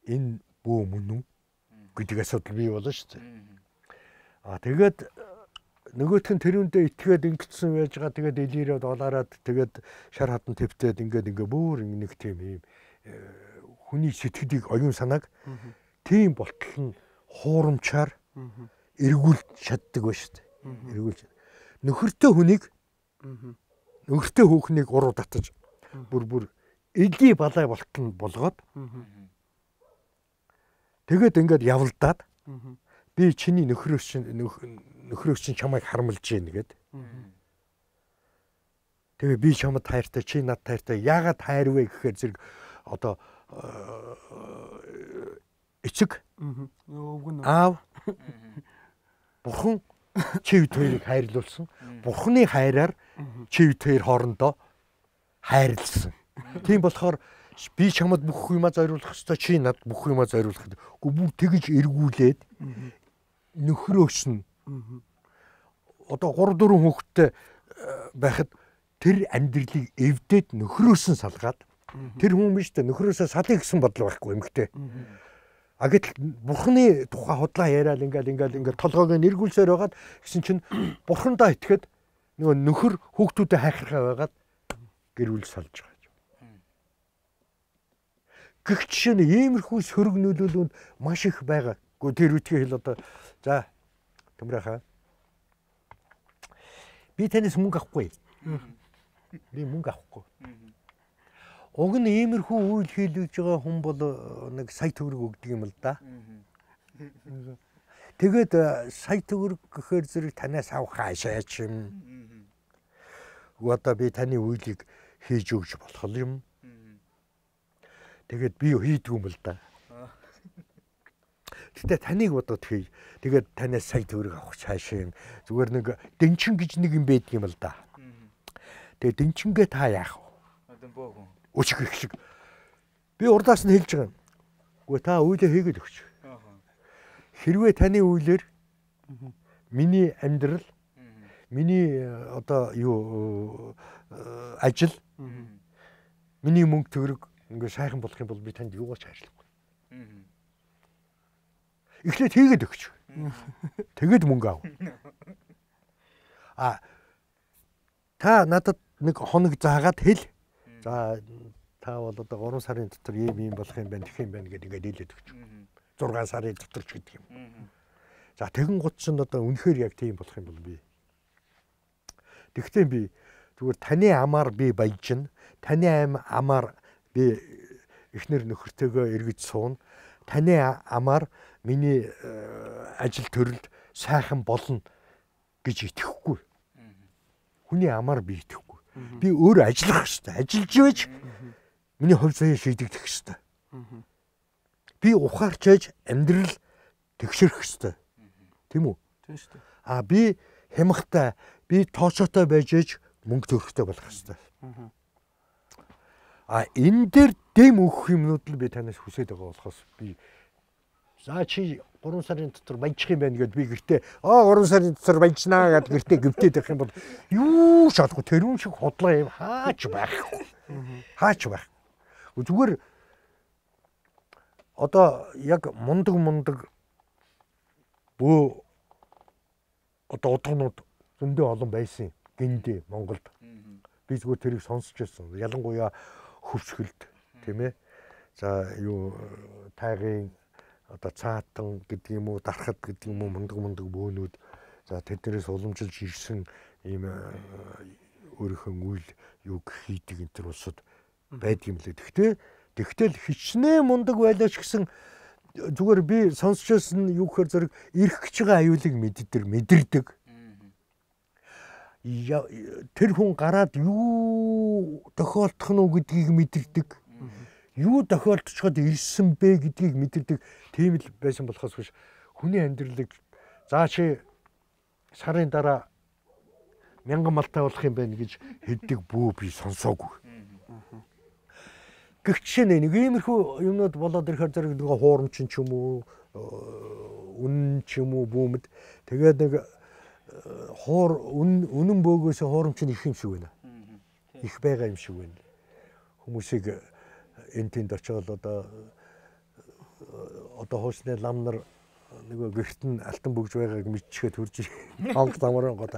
Энэ бөө мөн үү гэдэг асуудал бий болно шүү дээ. Аа тэгээд нөгөөх нь тэрүүндээ итгээд ингэсэн байж байгаа. Тэгээд элирээд олаарад тэгээд шар хадан твтээд ингээд ингээ бүр нэг тийм юм хүний сэтгэлийг оюун санааг тийм болтол нь хуурамчаар эргүүлж чаддаг ба шүү дээ. Эргүүлж. Нөхөртэй хүнийг нөхөртэй хүүхнийг уруу татаж бүр бүр эли балай болтол нь болгоод тэгээд ингээд явалдаад би чиний нөхрөөс чинь нөхрөөс чинь чамайг харамлж гин гэд. Тэгээ би чамд хайртай чи над хайртай яагаад хайрвэ гэхээр зэрэг одоо эцэг аав бурхан чи бид хоёрыг хайрлуулсан. Бурханы хайраар чи бид хоёр хоорондоо хайрлсан. Тийм болохоор би чамд бүх юмаа зориулах ёстой чи над бүх юмаа зориулах. Гэхдээ бүр тэгж эргүүлээд нөхрөөс нь одоо гурав дөрвөн хүүхэдтэй байхад тэр амьдралыг эвдээд нөхрөөс нь салгаад тэр хүн биш дээ нөхрөөсөө салъя гэсэн бодол байхгүй эмэгтэй. А гэтэл бурхны тухай худлаа яриад ингээл ингээл ингээл толгойг нь эргүүлсээр байгаад гэсэн чинь бурхандаа итгэхэд нөгөө нөхөр хүүхдүүдэд хайхрахаа байгаад гэрүүл салж байгаа. Гэх жишээ нь иймэрхүү сөрөг нөлөөлөнд маш их байгаа. Гэхдээ тэр үтгий хэл одоо за Төмрөхөө би танаас мөнгө авахгүй. Би мөнгө авахгүй. Уг нь иймэрхүү үйл хийлгэж байгаа хүн бол нэг сая төгрөг өгдөг юм л да. Тэгээд сая төгрөг гэхээр зэрэг танаас авах хаашаач юм. Одоо би таны үйлийг хийж өгч болох юм. Тэгээд би хийдэг юм л да. Гэтэ таныг бодоод хий. Тэгээд танаас сая төгрөг авах цаашаа юм. Зүгээр нэг дэнчин гэж нэг юм байдаг юм л да. Тэгээд дэнчингээ та яах вэ? Одоо бөөгөн. Өчг их шиг. Би урдаас нь хэлж байгаа юм. Гэхдээ та үйлээ хийгээд өгч. Хэрвээ таны үйлээр миний амьдрал, миний одоо юу ажил, миний мөнгө төгрөг ингээ сайхан болох юм бол би танд юугаач хайрлахгүй. Эхлээд хийгээд өгч. Тэгэд мөнгө ав. А та надад нэг хоног заагаад хэл. За та бол одоо гурван сарын дотор ийм ийм болох юм байна, тэх юм байна гэдэг ингээд хэлээд өгч. зургаан сарын дотор ч гэдэг юм. За тэгэн гут чинь одоо үнэхээр яг тийм болох юм бол би. Тэгвэл би зүгээр таны амаар би баяжна. Таны амаар би эхнэр нөхөртөөгөө эргэж суuna. Таны амаар миний ажил төрөлд сайхан болно гэж итгэхгүй. Хүний амаар би итгэхгүй. Би өөр ажиллах хэрэгтэй. Ажиллаж байж миний хувь заяа шийдэгдэх хэрэгтэй. Би ухаарч байж амьдрал тэгшэрх хэрэгтэй. Тийм үү? Тийм шүү дээ. А би хямхтай, би тоочоотой байж ээж мөнгө төрөхтэй болох хэрэгтэй. А энэ дээр дэм өгөх юмнууд л би танаас хүсэж байгаа болохоос би за чи гурван сарын дотор баяжих юм байна гэдээ би гэртээ аа гурван сарын дотор баяжнаа гэд гэртээ гөвтээд байх юм бол юу шалахгүй тэрүүн шиг хотлоо юм хаач байхгүй. Хаач байх. Зүгээр одоо яг мундаг мундаг бөө одоо удагнууд зөндөө олон байсан гиндээ Монголд. Би зүгээр тэрийг сонсч байсан. Ялангуяа хөвсгөлд тийм ээ. За юу тайгын одоо цаатан гэдэг юм уу, дархад гэдэг юм уу, мундаг мундаг бөөнүүд за тэднээс уламжилж ирсэн ийм өөрийнхөө үйл юг хийдэг энэ төр улсад байдаг юм лээ. Тэгтээ тэгтэл хичнээн мундаг байлаач гэсэн зүгээр би сонсчоос нь юу гэхээр зэрэг ирэх гэж байгаа аюулыг мэддэг, мэдэрдэг. Тэр хүн гараад юу тохиолдох нь гэдгийг мэдэрдэг. Юу тохиолдчиход ирсэн бэ гэдгийг мэдэрдэг. Тийм л байсан болохоос биш хүний амьдралыг заашаа сарын дараа мянган малтай болох юм байна гэж хэддэг бүү би сонсоогүй. Гэхдээ нэг иймэрхүү юмнууд болоод ирэхээр зэрэг нэг хуурамчин ч юм уу, үнэн ч юм уу бүүмэд тэгээд нэг хуур үнэн бөөгөөс хуурамчин их юм шиг байна. Их байгаа юм шиг байна. Хүмүүсийг энэ тэнд очиод одоо одоо хуусны лам нар нөгөө гэрт нь алтан бөгж байгааг мэдчихээд хурж хонг тамран гоо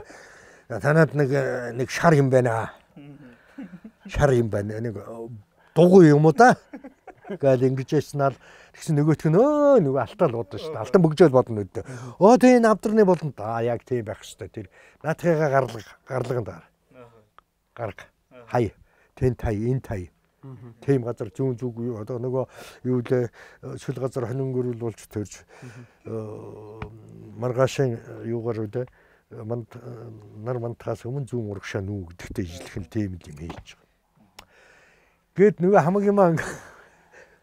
танад нэг нэг шар юм байна. Шар юм байна. Нэг дугуй юм уу та? Гэл ингэж яснаар тэгсэн нөгөөх нь өө нөгөө алтаал бодно шүү дээ. Алтан бөгжөөл бодно үүдээ. Оо тийм навдрны болно да. Яг тийм байх шүү дээ. Тэр наатхыгаа гарлаг гарлаган даа. Гарга. Хай. Тэн тай, эн тай. Тийм газар зүүн зүг одоо нөгөө юу лээ шүл газар хонин гөрүүлүүлж төрж маргаашийн юугаар үдэ манд нар мантаас өмнө зүүн урагшаа нүү гэдэгтэй ижлэх нь тийм юм хийж байгаа. Гэт нөгөө хамаг юмаа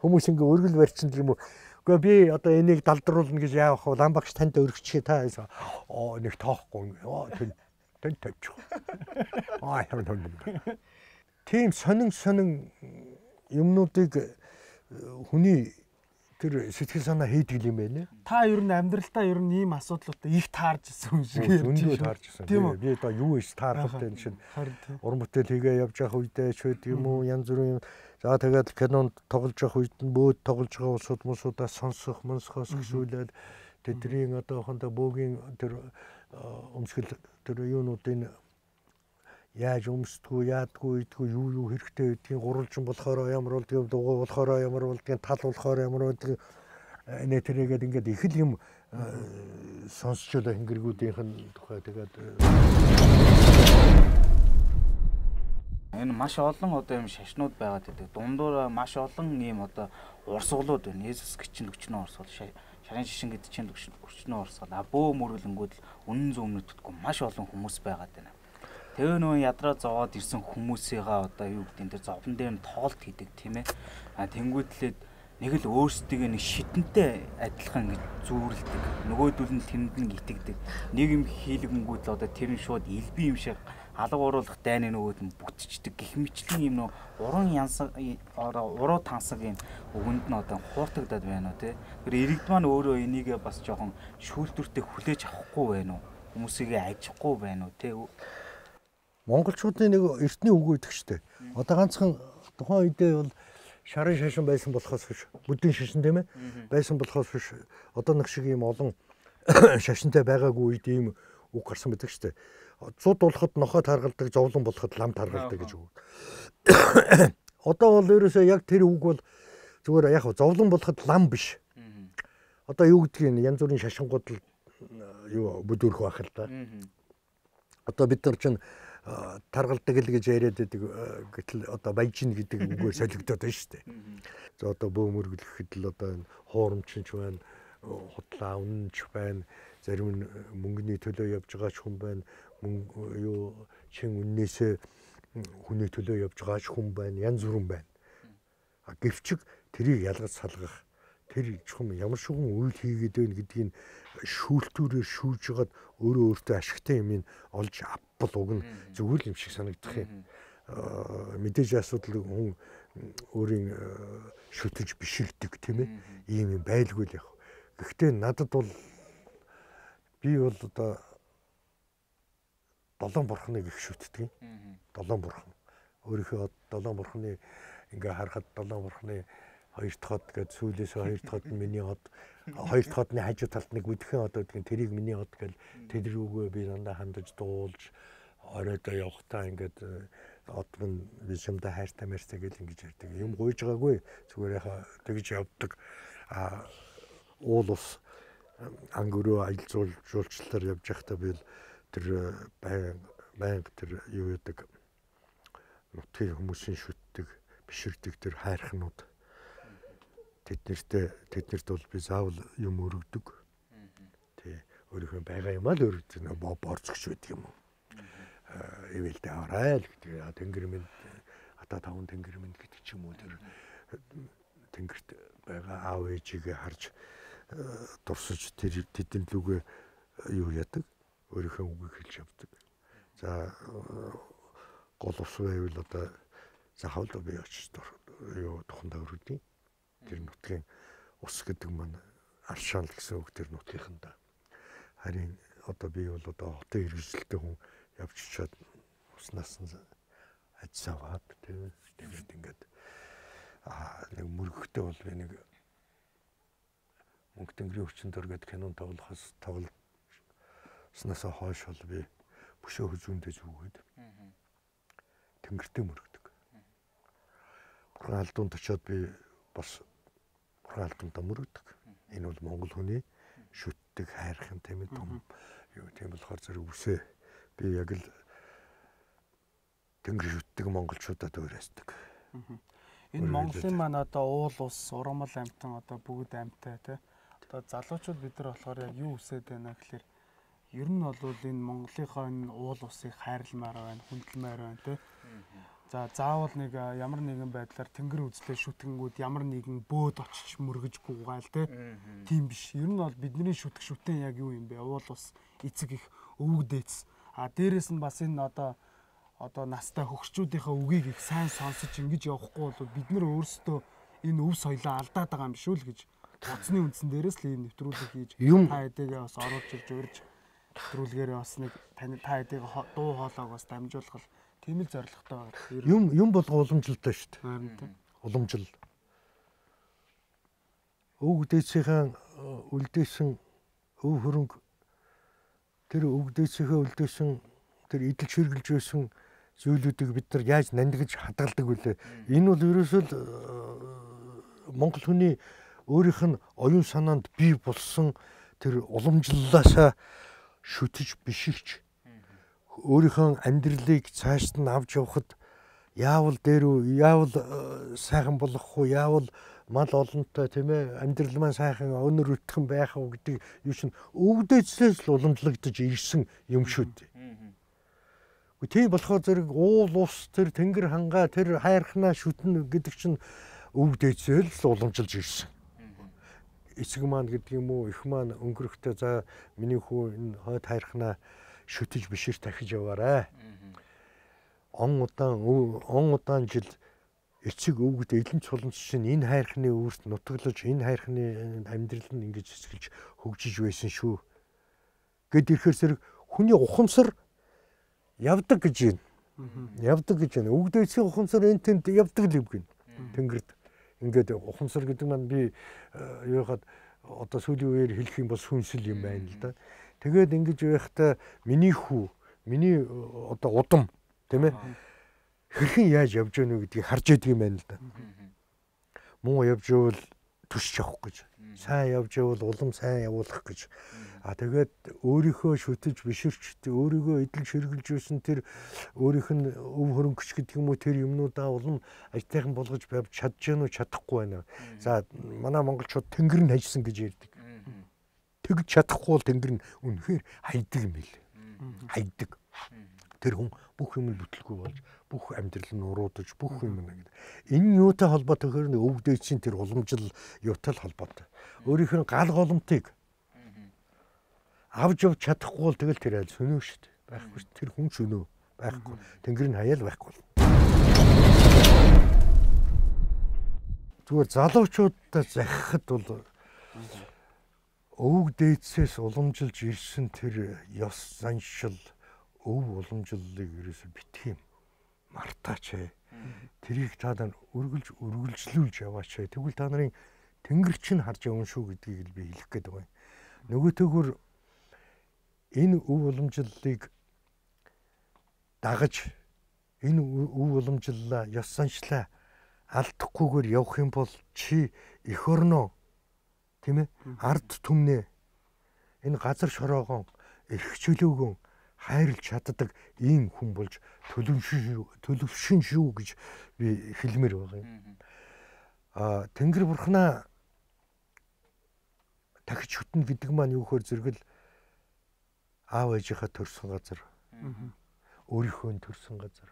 хүмүүс ингээ өргөл барьсан юм уу. Гэхдээ би одоо энийг далдруулна гэж яавах вэ? Лам багш танд өргөчхий та гэсэн. Оо нэг тоохгүй. Оо тэн тэн тавьчих. Аа юм юм. Тийм сонин сонин юмнуудыг хүний тэр сэтгэл санаа хийдэг юм байна. Та ер нь амьдралтаа ер нь ийм асуудлуудаа их таарж ирсэн юм шиг юм. Үндөө таарж ирсэн. Би одоо юу ийс таарах вэ чинь уран бүтээл хийгээ явж явах үедээ ч гэдэг юм уу янз бүрийн за тэгээд кинонд тоглож явах үед нь бөөд тоглож байгаа улсууд мусуудаас сонсох, монсохоос гүшүүлээд тэдний одоо хондоо бөөгийн тэр өмсгөл тэр юунуудын яаж өмсдгүү, яадгүй, идгүй, юу юу хэрэгтэй гэдгийг гурвалжин болохоор ямар болдгийг, дугуй болохоор ямар болдгийг, тал болохоор ямар болдгийг нэ тэрийгээд ингээд их л юм сонсчод хингэргүүдийнх нь тухай тэгээд энэ маш олон одоо юм шашнууд байгаад байдаг. Дундуур маш олон ийм одоо урсгалууд байна. Есүс гिचэн өчнөө урсгал, шарын шишин гэдэг чинь өчнөө урсгал. А бөө мөрүүлэнгүүд үнэн зөв мэддэггүй маш олон хүмүүс байгаад байна. Тэгээ нөө ядраа зовоод ирсэн хүмүүсийнхаа одоо юу гэдэг энэ зовлон дээр нь тоолт хийдэг тийм ээ. А тэнгүүтлээд нэг л өөрсдөө нэг шидэнтэй адилхан гэж зүүрлдэг. Нөгөөдөл нь тэнд нь итгэдэг. Нэг юм хийлгэнгүүд л одоо тэр нь шууд илби юм шиг алга уруулах дайны нөгөөд нь бүтчихдэг. Гэх мэтлэн юм нөө уран янсан уруу тансаг юм өгөнд нь одоо хууртагдаад байна уу тий. Тэр иргэд маань өөрөө энийг бас жоохон шүүлтүртэй хүлээж авахгүй байна уу? Хүмүүсийг ажихгүй байна уу тий. Монголчуудын нэг эртний үг өгдөг штэ. Одоо ганцхан тухайн үедээ бол шарын шашин байсан болохоос биш. Бүдийн шашин тийм ээ. Байсан болохоос биш. Одоо нэг шиг ийм олон шашинтай байгаагүй үед ийм үг гарсан байдаг штэ. Цуд болоход нохой таргалдаг, зовлон болоход лам таргалдаг гэж үг. Одоо бол ерөөсөө яг тэр үг бол зүгээр яг зовлон болоход лам биш. Одоо юу гэдгийг янз бүрийн шашингууд л юу бүдүүрх байх л да. Одоо бид нар чинь таргалдаг л гэж яриад байдаг гэтэл одоо баяжин гэдэг үгээр солигдоод байна шүү дээ. За одоо бөөмөр гэлэхэд л одоо энэ хуурамчинч байна, худлаа үнэнч байна, зарим нь мөнгөний төлөө явж байгаа ч хүн байна, мөнгө юу чин үннээсээ хүний төлөө явж байгаа ч хүн байна, янз бүрэн байна. А гэвчиг тэрийг ялгаж салгах тэр чухам ямар шигэн үйл хийгээд байна гэдгийг шүүлтүүрээр шүүж жагаад өөрөө өөртөө ашигтай юм олж авбал уг нь зүгээр юм шиг санагдах юм. Мэдээж асуудал хүн өөрийн шүтэж биширдэг тийм ээ. Ийм юм байлгүй л яг. Гэхдээ надад бол би бол одоо долоон бурхныг их шүтдэг юм. Долоон бурхан. Өөрийнхөө долоон бурхны ингээ харахад долоон бурхны хоёр дахь хот гэж сүүлээс хоёр дахь хот нь миний хот, хоёр дахь хотны хажуу талд нэг үдхэн хот гэдэг нь тэрийг миний хот гэж тэр рүүгээ би дандаа хандаж дуулж оройдоо явахтаа ингээд одг нь бишимдэ хайртай мэртэй гэж ингэж ярьдаг. Юм гуйж байгаагүй зүгээр яхаа тэгж явдаг. А уул ус ангөрөө аялал жуулчлалаар явж байхдаа би тэр баян баян тэр юу яадаг нутгийн хүмүүсийн шүтдэг биширдэг тэр хайрхнууд тэднэртээ тэднэрт бол би заавал юм өргөдөг. Тий өөрийнхөө байгаа юм аа л өргөдөг нэ борцогч байдаг юм уу. Эвэлдээ аваарай л гэдэг. Тэнгэр минь ата таван тэнгэр минь гэдэг ч юм уу тэр тэнгэрт байгаа аав ээжигээ харж дурсаж тэр тэдэн лүгээ юу яадаг өөрийнхөө үгийг хэлж явдаг. За гол ус байвал одоо захавал би очиж юу тухандаа өргөдөг. Тэр нутгийн ус гэдэг маань аршаал гэсэн үг тэр нутгийнханда. Харин одоо би бол одоо хотын хэрэгжилтэй хүн явж чад уснаас нь ажсаваад тэгээд ингээд аа нэг мөргөхтэй бол би нэг Мөнх тэнгэрийн хүчин дор гэдэг кинон тоглохоос тоглоснаас хойш бол би бөшөө хүзүүндээ зүгээд тэнгэртэй мөргөдөг. Бурхан алдуунд очиод би бас бурхан алдуундаа мөргөдөг. Энэ бол монгол хүний шүтдэг хайрхан тийм ээ том юу тийм болохоор зэрэг үсээ би яг л тэнгэр шүтдэг монголчуудад уурайсдаг. Энэ Монголын маань одоо уул ус, ургамал амтан одоо бүгд амтай тий. Одоо залуучууд бид нар болохоор яг юу үсээд байна гэхээр ер нь бол энэ Монголынхоо энэ уул усыг хайрламаар байна, хүндэлмээр байна тий. За заавал нэг ямар нэгэн байдлаар тэнгэр үзлээ шүтгэнгүүд ямар нэгэн бөөд очиж мөргөж гугайл тий. Тийм биш. Ер нь бол бидний шүтг шүтэн яг юу юм бэ? Уул ус, эцэг их, өвөг дээдс. А дээрэс нь бас энэ одоо одоо настай хөгшчүүдийнхээ үгийг их сайн сонсож ингэж явахгүй бол бид нар өөрсдөө энэ өв соёлоо алдаад байгаа юм шүү л гэж утасны үндсэн дээрээс л ийм нэвтрүүлэг хийж та хэдийгээ бас оруулж ирж урьж нэвтрүүлгээрээ бас нэг тань та хэдийгээ дуу хоолойг бас дамжуулах тийм л зорилготой байгаа. Юм юм болго уламжилтай шүү дээ. Уламжил. Өвөг дээдсийн үлдээсэн өв хөрөнгө тэр өвөг дээдсийнхээ үлдээсэн тэр идэл ширгэлж байсан зүйлүүдийг бид нар яаж нандгаж хадгалдаг вүлээ. Энэ бол ерөөсөө Монгол хүний өөрийнх нь оюун санаанд бий болсон тэр уламжлалаасаа шүтэж биширч өөрийнхөө амьдралыг цааш нь авч явахад яавал дээр үү, яавал сайхан болох уу, яавал мал олонтой тийм ээ амьдрал маань сайхан өнөр өтгөн байх уу гэдэг юу чинь өвдөжлөөс л уламжлагдаж ирсэн юм шүү дээ. Тийм болохоор зэрэг уул ус тэр тэнгэр хангаа тэр хайрхнаа шүтнэ гэдэг чинь өв дээдсэл л уламжилж ирсэн. Эцэг маань гэдэг юм уу их маань өнгөрөхтэй за миний хүү энэ хойд хайрхнаа шүтэж бишир тахиж яваарай. Он удаан он удаан жил эцэг өвгөд элен цулмч чинь энэ хайрхны өөрт нутаглаж энэ хайрхны амьдрал нь ингэж эсгэлж хөгжиж байсан шүү. Гэт ирэхээр зэрэг хүний ухамсар явдаг гэж байна. Явдаг гэж байна. Өвгдөөсийн ухамсар энэ тэнд явдаг л юм гин. Тэнгэрд ингээд ухамсар гэдэг маань би яагаад одоо сүүлийн үеэр хэлэх юм бол сүнсэл юм байна л да. Тэгээд ингэж байхдаа миний хүү, миний одоо удам тийм ээ хэрхэн яаж явж гэнэ гэдгийг харж яадаг юм байна л да. Муу явж ивэл төсч явах гэж. Сайн явж ивэл улам сайн явуулах гэж. А тэгээд өөрийнхөө шүтэж биширч өөрийгөө эдэл ширгэлж байсан тэр өөрийнх нь өв хөрөнгөч гэдэг юм уу тэр юмнуудаа улам ажтайхан болгож байв чадж гэнэ үү чадахгүй байна. За манай монголчууд тэнгэр нь хайсан гэж ярьдаг. Тэгж чадахгүй бол тэнгэр нь үнэхээр хайдаг юм билээ. Хайдаг. Тэр хүн бүх юм бүтлгүй болж бүх амьдрал нь уруудаж бүх юм нэг. Энэ юутай холбоотой гэхээр өв дээдсийн тэр уламжил юутай холбоотой. Өөрийнх нь гал голомтыг авж явж чадахгүй бол тэгэл тэр айл сөнөө шүү дээ. Байхгүй тэр хүн сөнөө байхгүй. Тэнгэр нь хаяал байхгүй. Зүгээр залуучуудаа захихад бол өвөг дээдсээс уламжилж ирсэн тэр ёс заншил өв уламжлалыг ерөөсө битгий мартаач ээ. Тэрийг та нар өргөлж өргөлжлүүлж яваач ээ. Тэгвэл та нарын тэнгэр чинь харж явна шүү гэдгийг л би хэлэх гээд байгаа юм. Нөгөөтэйгүр энэ өв уламжлалыг дагаж энэ өв уламжлалаа ёс заншлаа алдахгүйгээр явах юм бол чи эх орноо Тийм ээ? Ард түмнээ энэ газар шороогоон эрх чөлөөгөө хайрлж чаддаг ийм хүн болж төлөвшин төлөвшин шүү гэж би хэлмээр байгаа юм. Аа Тэнгэр бурхнаа дахиж хөтнө гэдэг маань юу гэхээр зэрэгэл аав ээжийнхаа төрсөн газар. Өөрийнхөө төрсөн газар.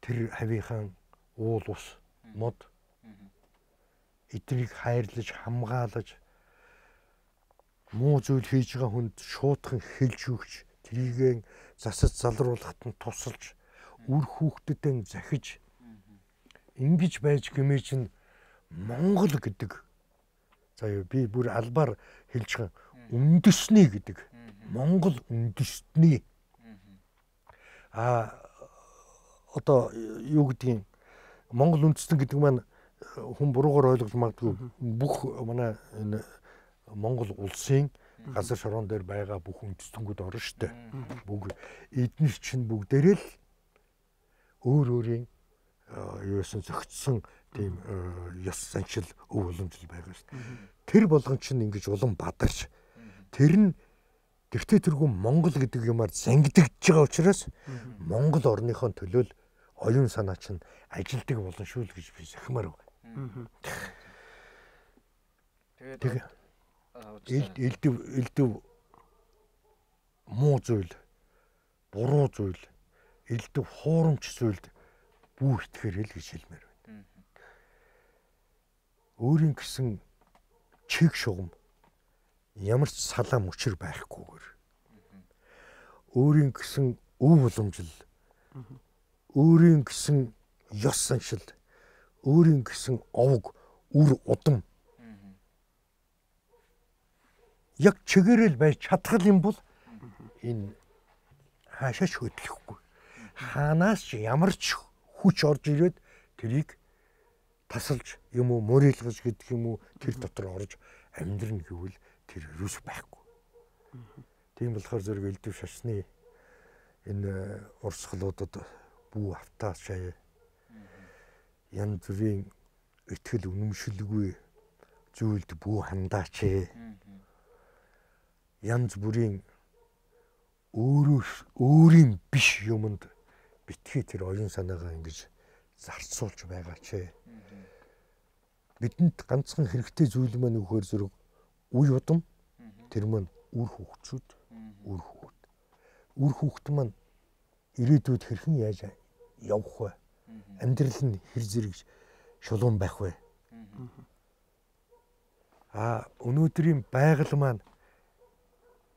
Тэр хавийнхаа уул ус мод эднийг хайрлаж хамгаалаж муу зүйл хийж байгаа хүнд шуудхан хэлж өгч трийгээ засаж залруулахад нь тусалж үр хүүхдэдээ захиж ингэж байж гэмээ чинь Монгол гэдэг за юу би бүр албаар хэлж байгаа үндэсний гэдэг Монгол үндэстний а одоо юу гэдгийг Монгол үндэстэн гэдэг маань хүн буруугаар ойлгож магадгүй бүх манай энэ Монгол улсын газар шороон дээр байгаа бүх үндэстэнүүд орно шүү дээ. Бүгд эднэр чинь бүгдээрээ л өөр өөрийн юусэн зөгцсөн тийм ёс заншил өв уламжлал байгаа шүү дээ. Тэр болгон чинь ингэж улам бадарч тэр нь дэвтэ тэргүй Монгол гэдэг юмар зангидж байгаа учраас Монгол орныхон төлөө оюун санаа чинь ажилдаг болно шүү л гэж би захимаар байна. Тэгээд элд элдв элдв муу зүйл буруу зүйл элдв хуурамч зүйлд бүү итгэхэр л гэж хэлмээр байна. Өөрийн гэсэн чиг шугам ямар ч салаа мөчр байхгүйгээр өөрийн гэсэн өв уламжлал өөрийн гэсэн ёс заншил өөрийн гэсэн овг үр удам яг чигээрэл байж чадхал юм бол энэ хаашаач хөдлөхгүй. Хаанаас ч ямар ч хүч орж ирээд тэрийг тасалж юм уу мөрөөлгөж гэдэг юм уу тэр дотор орж амьдрна гэвэл тэр ерөөс байхгүй. Тийм болохоор зэрэг элдв шашны энэ урсгалуудад бүү автаа шаяа янз бүрийн итгэл үнэмшилгүй зүйлд бүү хандаач ээ. Янз бүрийн өөрөө өөрийн биш юмд битгий тэр оюун санаагаа ингэж зарцуулж байгаа ч. Бидэнд ганцхан хэрэгтэй зүйл маань өгөхөр зэрэг үе удам тэр маань үр хөвгчүүд үр хөвгт. Үр хөвгт маань ирээдүйд хэрхэн яаж явах вэ? Амьдрал нь хэр зэрэг шулуун байх вэ? А өнөөдрийн байгаль маань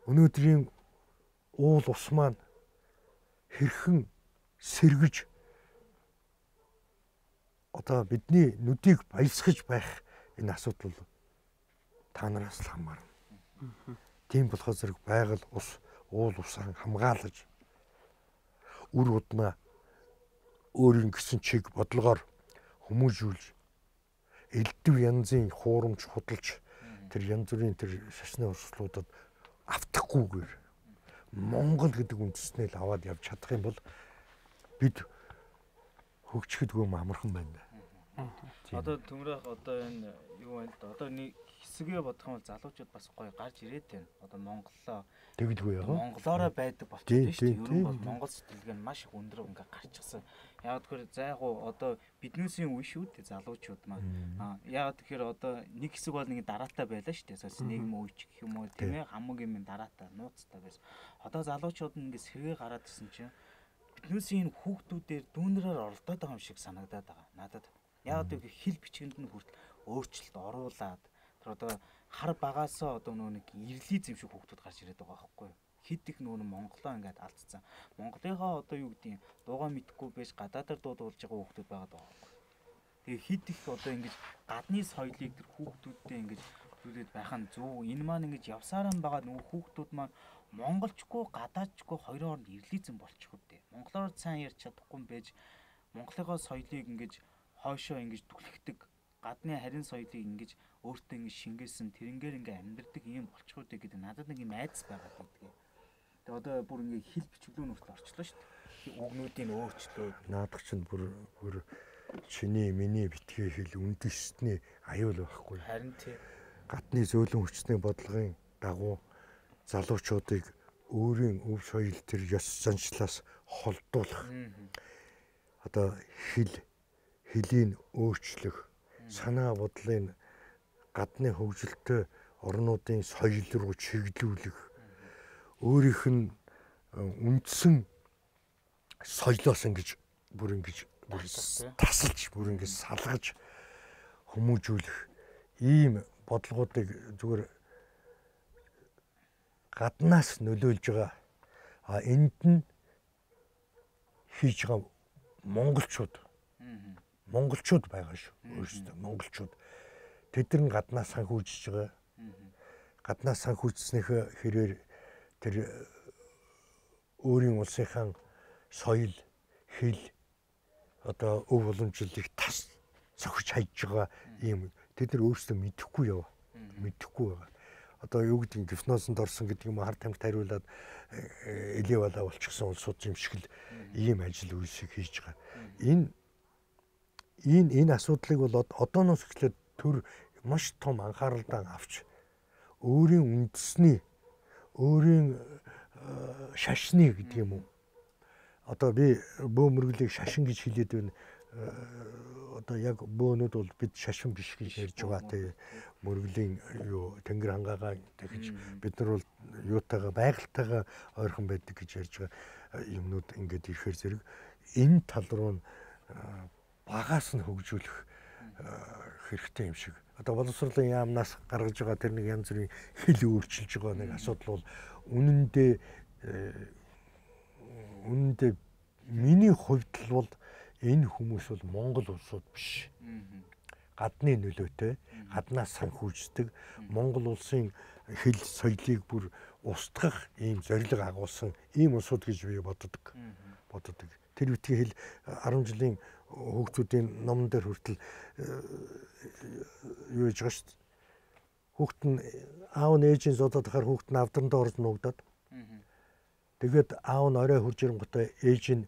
өнөөдрийн уул ус маань хэрхэн сэргэж одоо бидний нүдийг баясгаж байх энэ асуудал та нараас л хамаарна. Тийм болохоор зэрэг байгаль ус уул усаа хамгаалж үр удмаа өөрийн гэсэн чиг бодлогоор хүмүүжүүлж элдв янзын хуурамч худалж тэр янз бүрийн тэр шашны урсгалуудад автахгүйгээр Монгол гэдэг үндэснээ л аваад явж чадах юм бол бид хөгжихдгүй амархан байна. Одоо төмрөх одоо энэ юу байна л да. Одоо нэг хэсгээ бодох юм бол залуучууд бас гоё гарч ирээд байна. Одоо Монголоо тэгдэггүй яа. Монголоороо байдаг болчихсон шүү дээ. Ер нь бол Монгол сэтгэлгээ нь маш их өндөр ингээ гарчихсан. Яг тэгэхээр зайгуу одоо биднээсийн үе шүү дээ залуучууд маань. Аа яг тэгэхээр одоо нэг хэсэг бол нэг дараатай байлаа шүү дээ. Сас нийгэм үеч гэх юм уу тийм ээ хамаг юм дараатай нууцтай байсан. Одоо залуучууд нь ингээ сэргээ гараад ирсэн чинь биднээсийн хүүхдүүдээр дүүнрээр оролдоод байгаа юм шиг санагдаад байгаа. Надад яг одоо хэл бичгэнд нь хүртэл өөрчлөлт оруулаад тэр одоо хар багаасаа одоо нөө нэг ирлий зэм шиг хүүхдүүд гарч ирээд байгаа байхгүй юу? Хэд их нөө Монголоо ингээд алдсан. Монголынхаа одоо юу гэдгийг дуугаа мэдхгүй байж гадаадаар дуудуулж байгаа хүүхдүүд байгаа даа. Тэгээ хэд их одоо ингэж гадны соёлыг тэр хүүхдүүдтэй ингэж зүйлээд байх нь зөв. Энэ маань ингэж явсараа байгаа нөгөө хүүхдүүд маань монголчгүй гадаадчгүй хоёрын хооронд ирлийзэн болчих үдээ. Монголоор сайн ярьж чадахгүй байж Монголынхаа соёлыг ингэж хойшоо ингэж түлхдэг гадны харин соёлыг ингэж өөртөө ингэ шингээсэн тэрнгээр ингэ амьдэрдэг юм болчих үдээ гэдэг надад нэг юм айдас байгаа гэдэг. Тэгээ одоо бүр ингэ хэл бичвлүү нүртэл орчлоо шүү дээ. Үгнүүдийн өөрчлөлт. Наадах чинь бүр бүр чиний миний битгий хэл үндэсний аюул байхгүй. Харин тий. гадны зөөлөн хүчний бодлогын дагуу залуучуудыг өөрийн өв соёл төр ёс заншлаас холдуулах одоо хэл хэлийн өөрчлөх санаа бодлын гадны хөгжилтэй орнуудын соёл руу чиглүүлэх өөрийнх нь үндсэн соёлоос ингэж бүр ингэж тасалж бүр ингэж салгаж хүмүүжүүлэх ийм бодлогуудыг зүгээр гаднаас нөлөөлж байгаа. А энд нь хийж байгаа монголчууд монголчууд байгаа шүү. Өөрөөсөө монголчууд тэд нар гаднаас санхүүжиж байгаа. Гаднаас санхүүжснийхээ хэрээр тэр өөрийн улсынхаа соёл, хэл одоо өв уламжлалыг тас сохиж хайж байгаа юм тэд нар өөрсдөө мэдэхгүй яв. Мэдэхгүй байгаа. Одоо юу гэдэг нь гипнозонд орсон гэдэг юм хард тамхи тариулаад элевала болчихсон улсууд юм шиг л ийм ажил үйлсийг хийж байгаа. Энэ энэ энэ асуудлыг бол одооноос эхлээд төр маш том анхааралтай авч өөрийн үндэсний өөрийн шашны гэдэг юм уу. Одоо би бөө мөргөлийг шашин гэж хэлээд байна. Одоо яг бөөнүүд бол бид шашин биш гэж ярьж байгаа те мөргөлийн юу тэнгэр хангаагаа дахиж бид нар бол юутайгаа байгальтайгаа ойрхон байдаг гэж ярьж байгаа юмнууд ингээд ирэхээр зэрэг энэ тал руу багаас нь хөгжүүлэх хэрэгтэй юм шиг. Одоо боловсролын яамнаас гаргаж байгаа тэр нэг янз бүрийн хэл өөрчилж байгаа нэг асуудал бол үнэндээ үнэндээ миний хувьд бол энэ хүмүүс бол Монгол улсууд биш. Гадны нөлөөтэй, гаднаас санхүүждэг, Монгол улсын хэл соёлыг бүр устгах ийм зорилго агуулсан ийм улсууд гэж би боддог. Боддог. Тэр үтгийн хэл арван жилийн хүүхдүүдийн номон дээр хүртэл юу гэж байгаа шүү дээ. Хүүхд нь аав нь ээжийн зодоод ахаар хүүхд нь авдрандаа орж нуугдаад. Тэгээд аав нь орой хурж ирэнгүүтээ ээж нь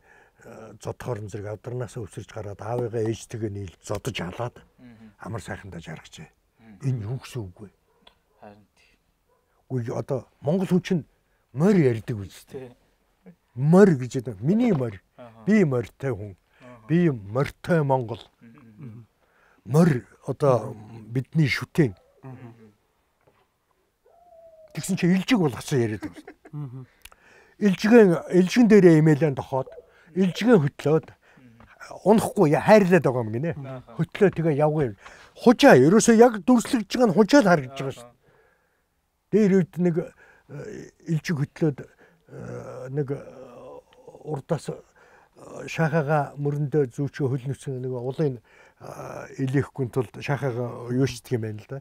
зодхоор зэрэг авдарнаас өвсөрж гараад аавыгаа ээжтэйгээ нийл зодож халаад амар сайхандаа жаргажээ. Энэ юу гэсэн үг вэ? Харин тийм. Үгүй одоо монгол хүн чинь морь ярьдаг үстэй. Морь гэж байна. Миний морь. Би морьтой хүн. Би морьтой монгол. Морь одоо бидний шүтэн. Тэгсэн чи илжиг болгоцсон яриад байна. Илжигэн илжигэн дээрээ имэйлэн тохоод илжигэн хөтлөөд унахгүй хайрлаад байгаа юм гинэ. Хөтлөө тэгээ явгын. Хужаа ерөөсөө яг дүрслэгж байгаа нь хужаа л харагдаж байгаа шүү. Дээр үед нэг илжиг хөтлөөд нэг урдаас шахага мөрөндөө зүүчөө хөл нүцэн нэг улын илээхгүй тулд шахага юушдаг юм байна л да.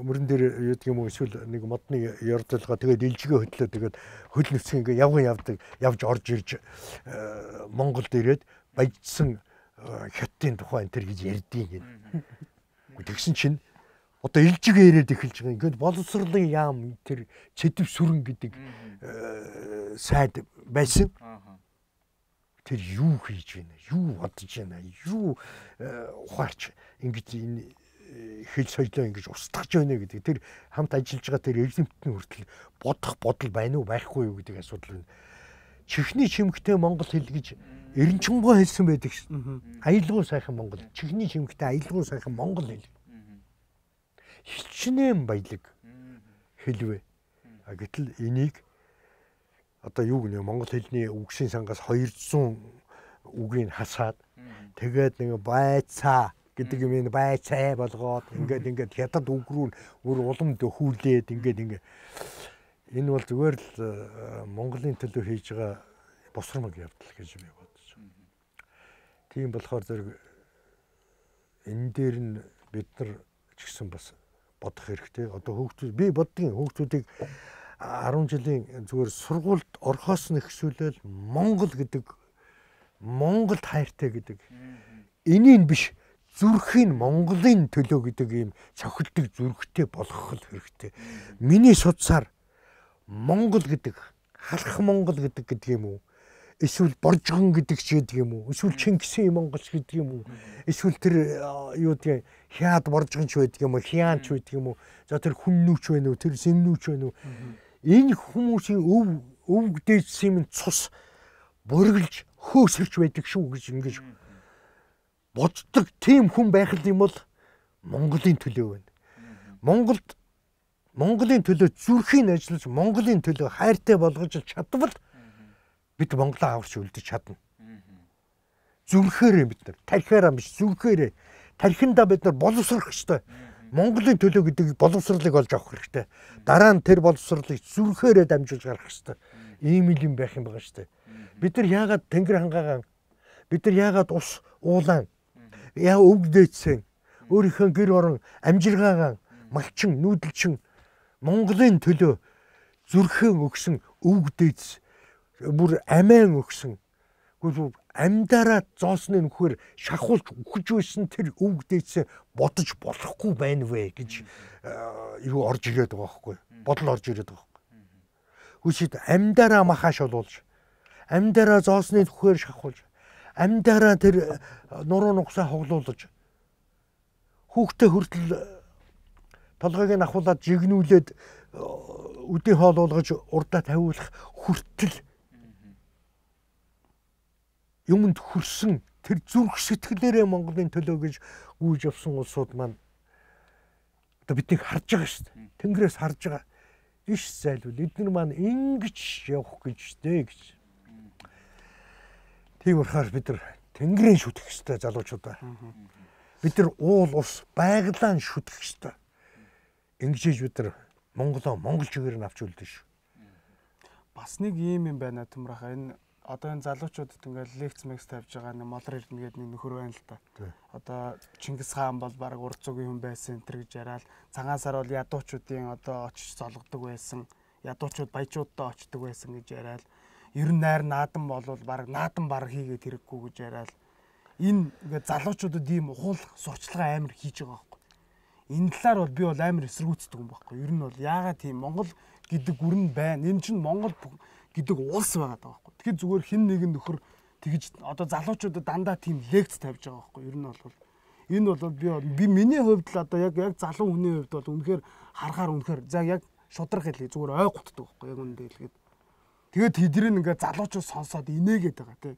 Мөрөн дээр юу гэдэг юм уу эсвэл нэг модны ярдлагаа тэгээд илжигээ хөдлөө тэгээд хөл нүцэн ингээ явган явдаг явж орж ирж Монголд ирээд баяжсан хятадын тухай энэ төр гэж ярьдгийг гин. Тэгсэн чинь одоо илжигээ ирээд эхэлж байгаа. Ингээд боловсролын яам тэр цэдэв сүрэн гэдэг сайд байсан. Тэр юу хийж байна? Юу бодож байна? Юу ухаарч ингэж энэ хэл соёлоо ингэж устгаж байна гэдэг. Тэр хамт ажиллаж байгаа тэр эрдэмтний хүртэл бодох бодол байна уу байхгүй юу гэдэг асуудал байна. Чихний чимхтэй монгол хэл гэж Эренчингоо хэлсэн байдаг шин. Аялгау сайхан монгол. Чихний чимхтэй аялгау сайхан монгол хэл. Хичнээн баялаг хэлвэ. А гэтэл энийг одоо юу гэнэ монгол хэлний үгсийн сангаас хоёрдугаар үгийг хасаад тэгээд нэг байцаа гэдэг юм ин байцаа болгоод ингээд ингээд хятад үг рүү өөр улам дөхүүлээд ингээд ингээд энэ бол зүгээр л Монголын төлөө хийж байгаа босромог явдал гэж би бодож байна. Тийм болохоор зэрэг энэ дээр нь бид нар ч гэсэн бас бодох хэрэгтэй. Одоо хүүхдүүд би боддгийн хүүхдүүдийг арван жилийн зүгээр сургуульд орхоос нь ихсүүлэл Монгол гэдэг Монголд хайртай гэдэг энийг биш зүрхийн Монголын төлөө гэдэг ийм цохилдог зүрхтэй болгох хэрэгтэй. Миний судсаар Монгол гэдэг халах Монгол гэдэг гэдэг юм уу? эсвэл Боржгон гэдэг ч гэдэг юм уу? Эсвэл Чингисийн Монголч гэдэг юм уу? Эсвэл тэр юу гэдэг Хяад Боржгонч байдаг юм уу? Хяанч байдаг юм уу? За тэр Хүннүүч байна уу? Тэр Сэмнүүч байна уу? Энэ хүмүүсийн өв өвгдээжсэн юм цус бүргэлж хөөсөрч байдаг шүү гэж ингэж боддог тийм хүн байх юм бол Монголын төлөө байна. Монголд Монголын төлөө зүрхийн ажиллаж Монголын төлөө хайртай болгож чадвал бид Монголоо аварч үлдэж чадна. Зүрхээрээ бид нар тархиараа биш зүрхээрээ тархиндаа бид нар боловсрох ёстой. Монголын төлөө гэдэг боловсролыг олж авах хэрэгтэй. Дараа нь тэр боловсролыг зүрхээрээ дамжуулж гаргах хэрэгтэй. Ийм л юм байх юм байгаа шүү дээ. Бид нар яагаад тэнгэр хангаагаан бид нар яагаад ус уулаан яа өвгдөөцсөн өөрийнхөө гэр орон амжиргаагаан малчин нүүдэлчин Монголын төлөө зүрхэн өгсөн өвгдөөц бүр амиан өгсөн гүйл амьдараа зоосны нөхөр шахуулж өгч байсан тэр өвгдөөцөө бодож болохгүй байна вэ гэж юу орж ирээд байгаа байхгүй бодол орж ирээд байгаа байхгүй хүчит амьдараа махаш олуулж амьдараа зоосны нөхөр шахуулж амьдараа тэр нуруу нугсаа хоглуулж хүүхдээ хүртэл толгойг нь ахуулаад жигнүүлээд үдийн хоол болгож урдаа тавиулах хүртэл юмд хүрсэн тэр зүрх сэтгэлээрээ Монголын төлөө гэж гүйж явсан улсууд маань одоо биднийг харж байгаа шүү дээ. Тэнгэрээс харж байгаа. Иш зайлвал эдгээр маань ингэж явах гэж дээ гэж. Тийм болохоор бид нар тэнгэрийн шүтэх ёстой залуучуудаа. Бид нар уул ус байгалаа шүтэх ёстой. Ингэж бид нар Монголоо монгол чигээр нь авч үлдэн шүү. Бас нэг юм юм байна Тэмрахаа. Энэ одоо энэ залуучуудад ингээл лекц мекс тавьж байгаа нэг Молор Эрдэнэ гэдэг нэг нөхөр байна л да. Одоо Чингис хаан бол баг урд зүгийн хүн байсан энэ гэж яриад цагаансаар бол ядуучуудын одоо очиж золгодог байсан. Ядуучууд баячуудтай очдог байсан гэж яриад ер нь найр наадам болвол баг наадам баг хийгээд хэрэггүй гэж яриад энэ ингээд залуучуудад ийм ухуул сурчлага амар хийж байгаа байхгүй. Энэ талаар бол би бол амар эсэргүүцдэг юм байхгүй. Ер нь бол яагаад тийм Монгол гэдэг гүрэн байна. Энэ чинь Монгол гэдэг улс байгаа даа байхгүй. Тэгэхээр зүгээр хэн нэгэн нөхөр тэгж одоо залуучуудад дандаа тийм лекц тавьж байгаа байхгүй. Ер нь бол энэ бол би би миний хувьд л одоо яг яг залуу хүний хувьд бол үнэхээр харахаар үнэхээр за яг шудрах хэлээ зүгээр ой гутдаг байхгүй. Яг үнэндээ хэлгээд. Тэгээд тэдний ингээд залуучууд сонсоод инээгээд байгаа тий.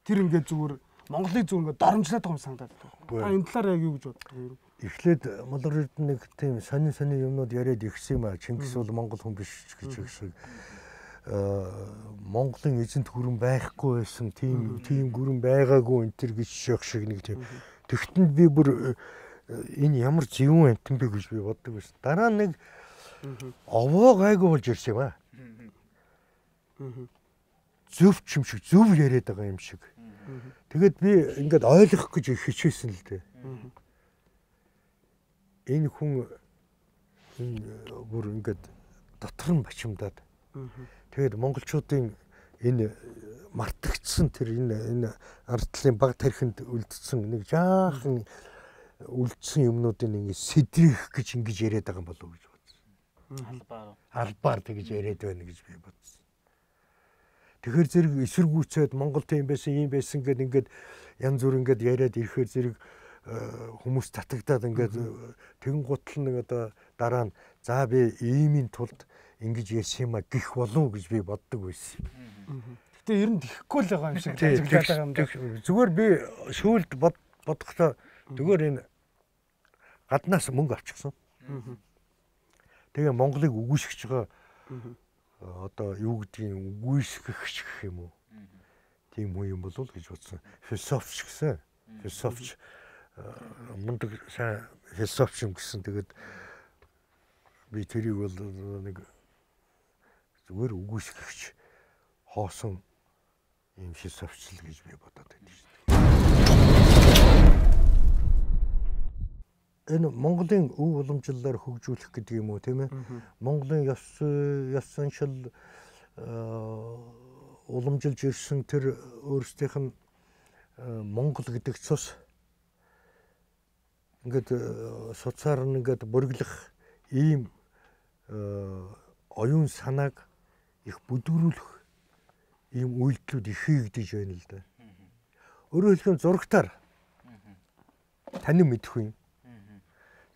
Тэр ингээд зүгээр Монголыг зүгээр ингээд доромжлоод байгаа юм санагдаад байна. Та энэ талаар яг юу гэж боддог юм? Эхлээд Молор Эрдэнэ нэг тийм сонин сонин юмнууд яриад ирсэн юм аа. Чингис бол монгол хүн биш гэж хэлсэн. Монголын эзэнт гүрэн байхгүй байсан тийм тийм гүрэн байгаагүй энэ төр гэж шок шиг нэг тийм. Тэгтэнд би бүр энэ ямар зөвүүн амтан бэ гэж би боддог байсан. Дараа нэг овоо гайгүй болж ирсэн юм аа. Зөв ч юм шиг зөв яриад байгаа юм шиг. Тэгээд би ингээд ойлгох гэж хичээсэн л дээ. Энэ хүн бүр ингээд дотор нь бачимдаад. Тэгээд монголчуудын энэ мартагдсан тэр энэ энэ ардлын баг тархинд үлдсэн нэг жаахан үлдсэн юмнуудыг ингээд сэдрэх гэж ингэж яриад байгаа юм болов уу гэж бодсон. Албаар. Албаар тэгж яриад байна гэж би бодсон. Тэгэхээр зэрэг эсэргүүцээд Монгол тийм байсан, ийм байсан гэд ингээд янз бүр ингээд яриад ирэхээр зэрэг хүмүүс татагдаад ингээд тэгэн гутал нэг одоо дараа нь за би иймийн тулд ингэж ярьсан юм а гих болов гэж би боддог байсан. Гэтэ ер нь тэхгүй л байгаа юм шиг ажиглаад байгаа юм даа. Зүгээр би шүүлд бодохдоо зүгээр энэ гаднаас мөнгө авчихсан. Тэгээ Монголыг үгүйсгэж байгаа одоо юу гэдгийг үгүйсгэгч гэх юм уу? Тийм үү юм болов уу гэж бодсон. Философч гэсэн. Философч мундаг сайн философч юм гэсэн. Тэгээд би тэрийг бол нэг зүгээр үгүйсгэгч хоосон юм философчл гэж би бодоод байдаг шүү дээ. Энэ Монголын өв уламжлалаар хөгжүүлэх гэдэг юм уу тийм ээ? Монголын ёс ёс заншил уламжилж ирсэн тэр өөрсдийнх нь Монгол гэдэг цус ингээд суцаар нь ингээд бүргэлэх ийм оюун санааг их бүдүүрүүлэх ийм үйлдэлүүд ихийгдэж байна л да. Өөрөөр хэлбэл зурагтаар танин мэдэх юм.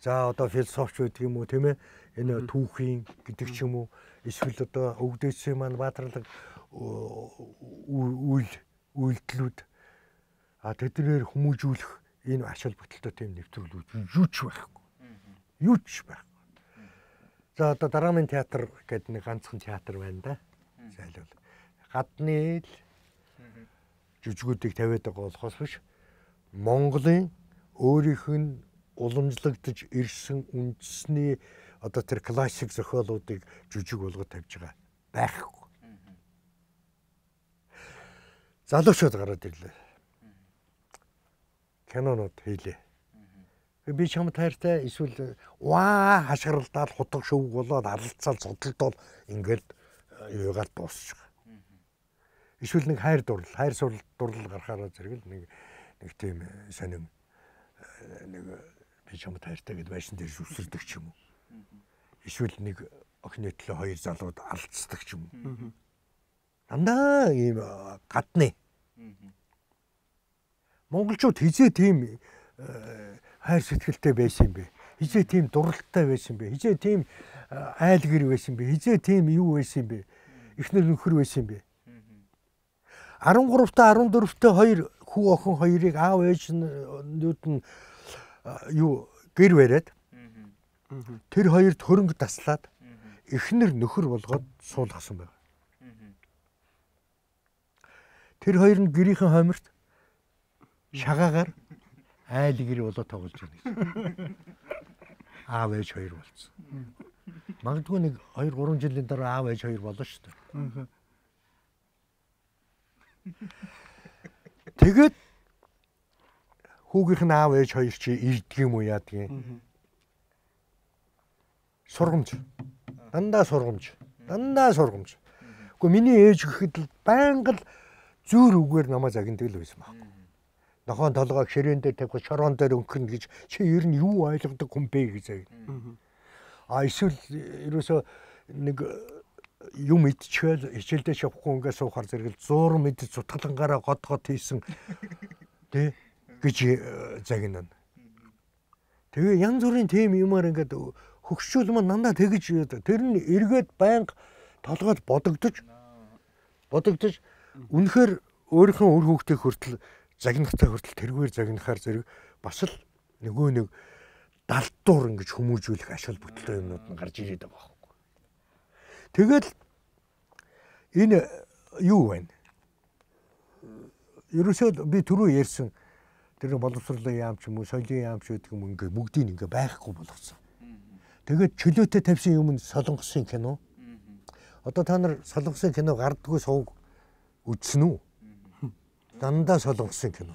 За одоо философч байдаг юм уу тийм ээ? Энэ түүхийн гэдэг ч юм уу эсвэл одоо өвгдөөсийн маань баатарлаг үйл үйлдэлүүд а тэднэр хүмүүжүүлэх энэ ач холбогдолтой тийм нэвтрүүлүүд юу ч байхгүй. Юу ч байхгүй. За одоо драмын театр гэдэг нэг ганцхан театр байна да. Зайлвал гадны л жүжигүүдийг тавиад байгаа болохоос биш Монголын өөрийнх нь уламжлагдж ирсэн үндэсний одоо тэр классик зохиолуудыг жүжиг болгоод тавьж байгаа байхгүй. Залуучууд гараад ирлээ. Кинонууд хийлээ. Би чам таартай эсвэл ваа хашгиралдаад хутга шөвг болоод алалцаал зодолдоод ингээд юугаар дуусчих. Эсвэл нэг хайр дурлал, хайр сурлал дурлал гарахаараа зэрэг л нэг нэг тийм сонин нэг би чам таартай гэд байшин дээр зүсэрдэг ч юм уу. Эсвэл нэг охины төлөө хоёр залууд алцдаг ч юм уу. Дандаа ийм гадны. Монголчууд хизээ тийм хайр сэтгэлтэй байсан юм бэ? Хизээ тийм дурлалтай байсан юм бэ? Хизээ тийм айл гэр байсан юм бэ? Хизээ тийм юу байсан юм бэ? Эхнэр нөхөр байсан юм бэ? арван гуравтай арван дөрөвтэй хоёр хүү охин хоёрыг аав ээжнүүд нь юу гэр бариад тэр хоёрт хөрөнгө таслаад эхнэр нөхөр болгоод суулгасан байна. Тэр хоёр нь гэрийнхэн хойморт шагаагаар айл гэр болоо тоглож байна. Аав ээж хоёр болсон. Магадгүй нэг хоёр гурван жилийн дараа аав ээж хоёр болно шүү дээ. Тэгээд хүүгийнх нь аав ээж хоёр чи ирдэг юм уу яадаг юм. Сургамж. Дандаа сургамж. Дандаа сургамж. Гэхдээ миний ээж гэхэд л байнга л зүүр үгээр намайг загнадаг л байсан байхгүй. Нохоон толгойг ширээн дээр тавих шороон дээр өнгөрнө гэж чи ер нь юу ойлгодог хүн бэ гэж загна. А эсвэл ерөөсөө нэг юм идчихэл хичээлдээ шавхгүй ингээд суухаар зэрэгэл зуурм мэдж цутгалангаараа год год хийсэн тэ гэж загнана. Тэгээ янз бүрийн тим юмар ингээд хөгшүүл маань дандаа тэгж тэр нь эргээд байнга толгойд бодогдож бодогдож үнэхээр өөрийнхөө үр хөвгтийг хүртэл загнахтай хүртэл тэргээр загнахаар зэрэг бас л нөгөө нэг далдуур ингэж хүмүүжүүлэх ашиг бүтэлтэй юмнууд нь гарч ирээд байгаа байхгүй. Тэгэл энэ юу вэ? Ерөөсөө би түрүү ярьсан тэр боловсролын яам ч юм уу, соёлын яам ч гэдэг юм ингээ бүгдийг ингээ байхгүй болгосон. Тэгээд чөлөөтэй тавьсан юм нь солонгосын кино. Одоо та нар солонгосын кино гардггүй сууг үзсэн үү? Дандаа солонгосын кино.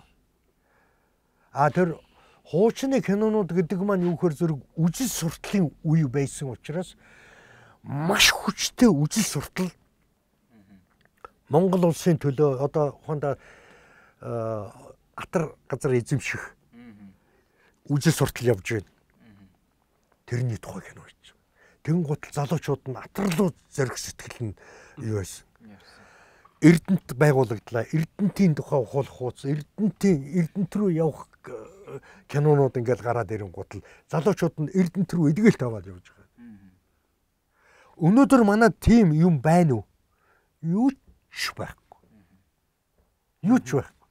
А тэр хуучны кинонууд гэдэг маань юу гэхээр зэрэг үжил суртлын үе байсан учраас маш хүчтэй үжил суртал Монгол улсын төлөө одоо хондоо атар газар эзэмших үжил суртал явж байна. Тэрний тухай кино хийж. Тэгэн гутал залуучууд нь атарлуу зориг сэтгэл нь юу байсан. Эрдэнэт байгуулагдлаа. Эрдэнэтийн тухай ухуулах хууц, Эрдэнэтийн Эрдэнэт рүү явах кинонууд ингээд гараад ирэн гутал залуучууд нь Эрдэнэт рүү эдгээлт аваад явж байгаа. Өнөөдөр манай тим юм байна уу? Юу ч байхгүй. Юу ч байхгүй.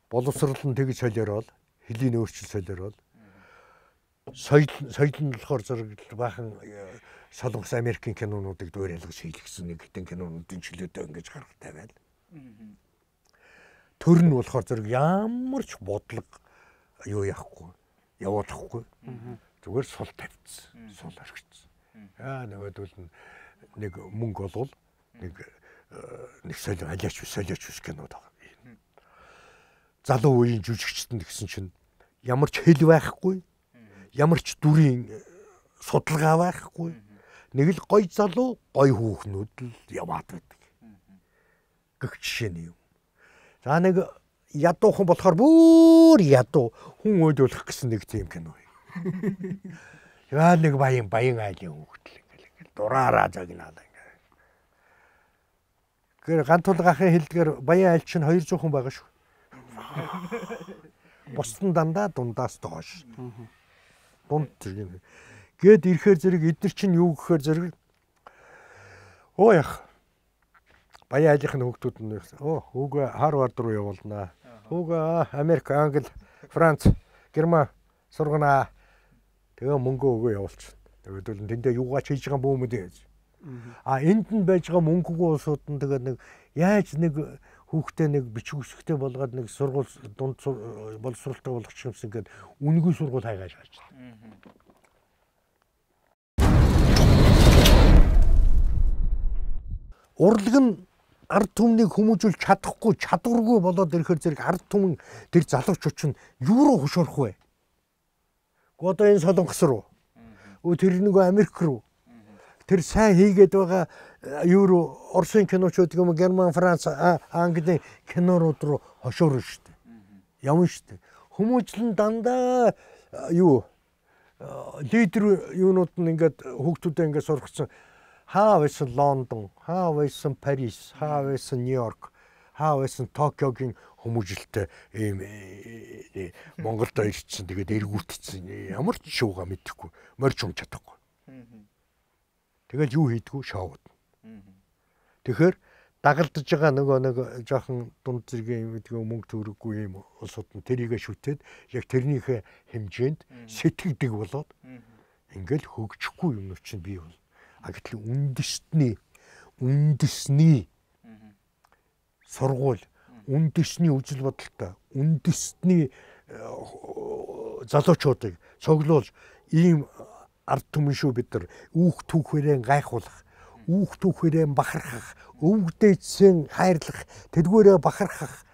Боловсрол нь тэгж солиорол, хэлийн өөрчлөл солиорол. Соёл соёл нь болохоор зэрэг баахан солонгос Америкийн кинонуудыг дөр ялгаж хийлгсэн нэг хитэн кинонуудын чөлөөтэй ингэж гаргах тавиал. Төр нь болохоор зэрэг ямар ч бодлого юу яахгүй, явуулахгүй. Зүгээр сул тавьчихсан, сул орхицсан. Аа нөгөөдөл нэг мөнгө болвол нэг нэг солио алиач солиоч ус кинод байгаа. Залуу үеийн жүжигчтэнд гэсэн чинь ямар ч хэл байхгүй, ямар ч дүрийн судалгаа байхгүй. Нэг л гоё залуу, гоё хүүхнүүд л яваад байдаг. Гэх жишээ юм. За нэг ядуухан болохоор бүр ядуу хүн өдөлөх гэсэн нэг тийм кино. Яа нэг баян баян айлын хүүхдэл ингээл ингээл дураараа загнаалаа ингээл. Тэгэхээр гантулга ахын хэлдгээр баян айлч нь хоёр зуун хүн байгаа шүү. Бусдын дандаа дундаас доош. Дунд зэрэг. Гээд ирэхээр зэрэг эдгээр чинь юу гэхээр зэрэг оо яах. Баян айлынхны хүүхдүүд нь оо хүүгээ Харвард руу явуулнаа. Хүүгээ Америк, Англи, Франц, Герман сургана. Тэгээ мөнгө өгөө явуулчихна. Тэгээд бол тэндээ юугаа ч хийж байгаа бөөмөд яаж. А энд нь байж байгаа мөнгөгүй улсууд нь тэгээд нэг яаж нэг хүүхдээ нэг бичиг үсгтэй болгоод нэг сургууль дунд боловсролтой болгочих юмсан гээд үнгүй сургууль хайгааж гарч байна. Урлаг нь ард түмнийг хүмүүжүүлж чадахгүй, чадваргүй болоод ирэхээр зэрэг ард түмэн тэр залуучууд нь юу руу хөшөөрөх вэ? Одоо энэ Солонгос руу. Өө тэр нэг Америк руу. Тэр сайн хийгээд байгаа юу руу Оросын киночууд юм Герман, Франц, Англи кинорууд руу хошоорно шүү дээ. Явна шүү дээ. Хүмүүжлэн дандаа юу лидер юунууд нь ингээд хүүхдүүдэд ингээд сургацсан хаа байсан Лондон, хаа байсан Парис, хаа байсан Нью-Йорк, хаа байсан Токиогийн хүмүүжлэлтэй ийм Монголд ирсэн тэгээд эргүүлчихсэн. Ямар ч шууга мэдэхгүй, морьч юм чадахгүй. Тэгэл юу хийдгүү шоуд. Тэгэхээр дагалдаж байгаа нөгөө нэг жоохон дунд зэргийн мэдгүй мөнгө төгрөггүй юм улсууд нь тэрийгэ шүтээд яг тэрнийхээ хэмжээнд сэтгэдэг болоод ингээл хөгжихгүй юм чинь бий бол. А гэтэл үндэсний үндэсний сургууль, үндэсний үжил бодолтой, үндэсний залуучуудыг цуглуулж ийм ард түмэн шүү бид нар үүх түүхээрээ гайхуулах, үүх түүхээрээ бахархах, өвгдөөцсөн хайрлах, тэргүүрээ бахархах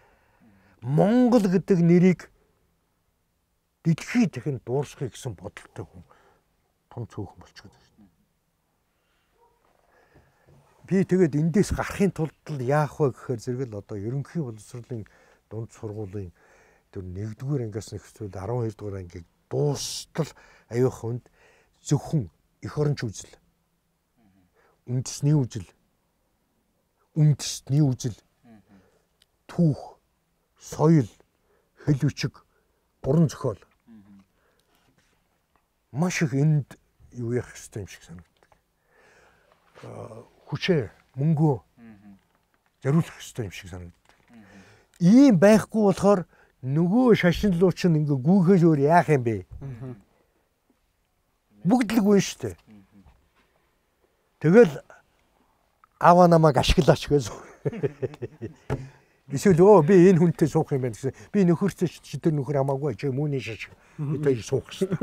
Монгол гэдэг нэрийг дэлхийд дахин дуурсахыг гэсэн бодолтой хүн том цөөхөн болчиход байна. Би тэгээд эндээс гарахын тулд яах вэ гэхээр зэрэг л одоо ерөнхий боловсролын дунд сургуулийн тэр нэгдүгээр ангиас нэгсүүл арван хоёр дугаар ангийг дуустал аюух хүнд зөвхөн эх оронч үзэл, үндэсний үзэл, үндэсний үзэл, түүх, соёл, хэл бичиг, гурван зохиол маш их энд юу яах ёстой юм шиг санагддаг. Хүчээ, мөнгөө зориулах ёстой юм шиг санагддаг. Ийм байхгүй болохоор нөгөө шашинлууч нь ингээ гүйхээс өөр яах юм бэ? Бүгд л гүйн штэ. Тэгэл аваа намайг ашиглаач гэж. Эсвэл өө би энэ хүнтэй суух юм байна гэсэн. Би нөхөртэй чи тэр нөхөр хамаагүй чи мөний шаш. Би тэр суух штэ.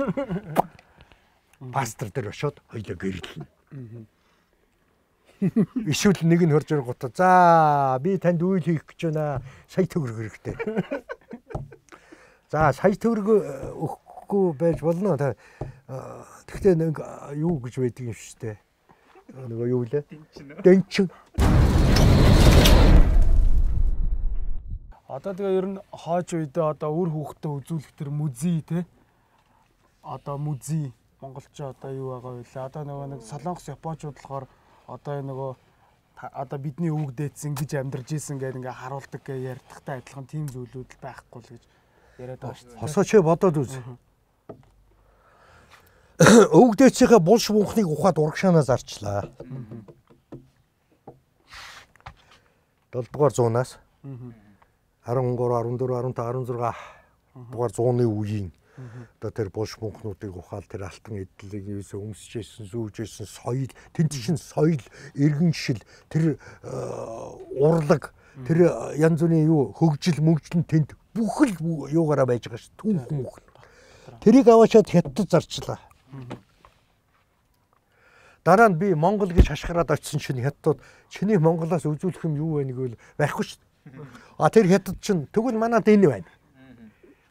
Пастор дээр очиод хоёлоо гэрэлнэ. Эсвэл нэг нь хөрж ирэнгуут за би танд үйл хийх гэж байна. Сая төгрөг хэрэгтэй. За сая төгрөг өгөхгүй байж болно. Тэгтээ нэг юу гэж байдаг юм шүү дээ. Нөгөө юу лээ? Дэнчин. Одоо тэгээ ер нь хойч үедээ одоо үр хүүхдээ үзүүлэх тэр музей те. Одоо музей монголчууд одоо юу байгаа вэ? Одоо нөгөө нэг Солонгос Японочууд болохоор одоо нөгөө одоо бидний өвөг дээдсэн гэж амьдарч ийсэн гэдэг ингээ харуулдаг гэ ярьдагтай адилхан тийм зүйлүүд л байхгүй л гэж яриад байгаа шүү дээ. Хосооч бодоод үз. Өвөг дээдсийнхээ булш бунхныг ухаад урагшаанаа зарчлаа. долдугаар зуунаас арван гурав, арван дөрөв, арван таван, арван зургаан дугаар зууны үеийн одоо тэр булш бунхнуудыг ухаал тэр алтан эдлийг юусаа өмсөжсэн, зүүжсэн соёл, тэнд чинь соёл, иргэншил, тэр урлаг, тэр янз бүрийн юу хөгжил, мөгжил нь тэнд бүх л юугаараа байж байгаа ш. Түүх мөх. Тэрийг аваачаад хятад зарчлаа. Дараа нь би Монгол гэж хашгираад очисон чинь хятадууд чиний Монголоос үзүүлэх юм юу вэ гэвэл байхгүй ш. А тэр хятад чинь тэгвэл манад энэ байна.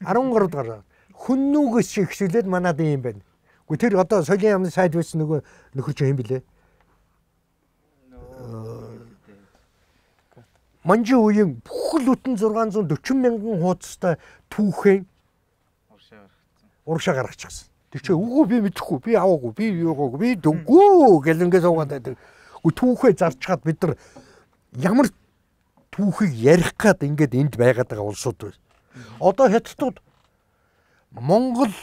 арван гурав дугаар хүннүүгээс шиг хэсүүлээд манад ийм байна. Гэхдээ тэр одоо соёлын яамны сайд байсан нөгөө нөхөр чинь юм блэ? Манжи үеийн бүх л бүтэн зургаан зуун дөрвөн мянган хуудастай түүхэн урагшаа гаргачихсан. Тэр чинь үгүй би мэдэхгүй, би аваагүй, би юугаагүй, би дөнгөө гэл ингэ суугаад байдаг. Үгүй түүхээ зарчгаад бид нар ямар түүхийг ярих гад ингээд энд байгаад байгаа улсууд байна. Одоо хятадууд Монгол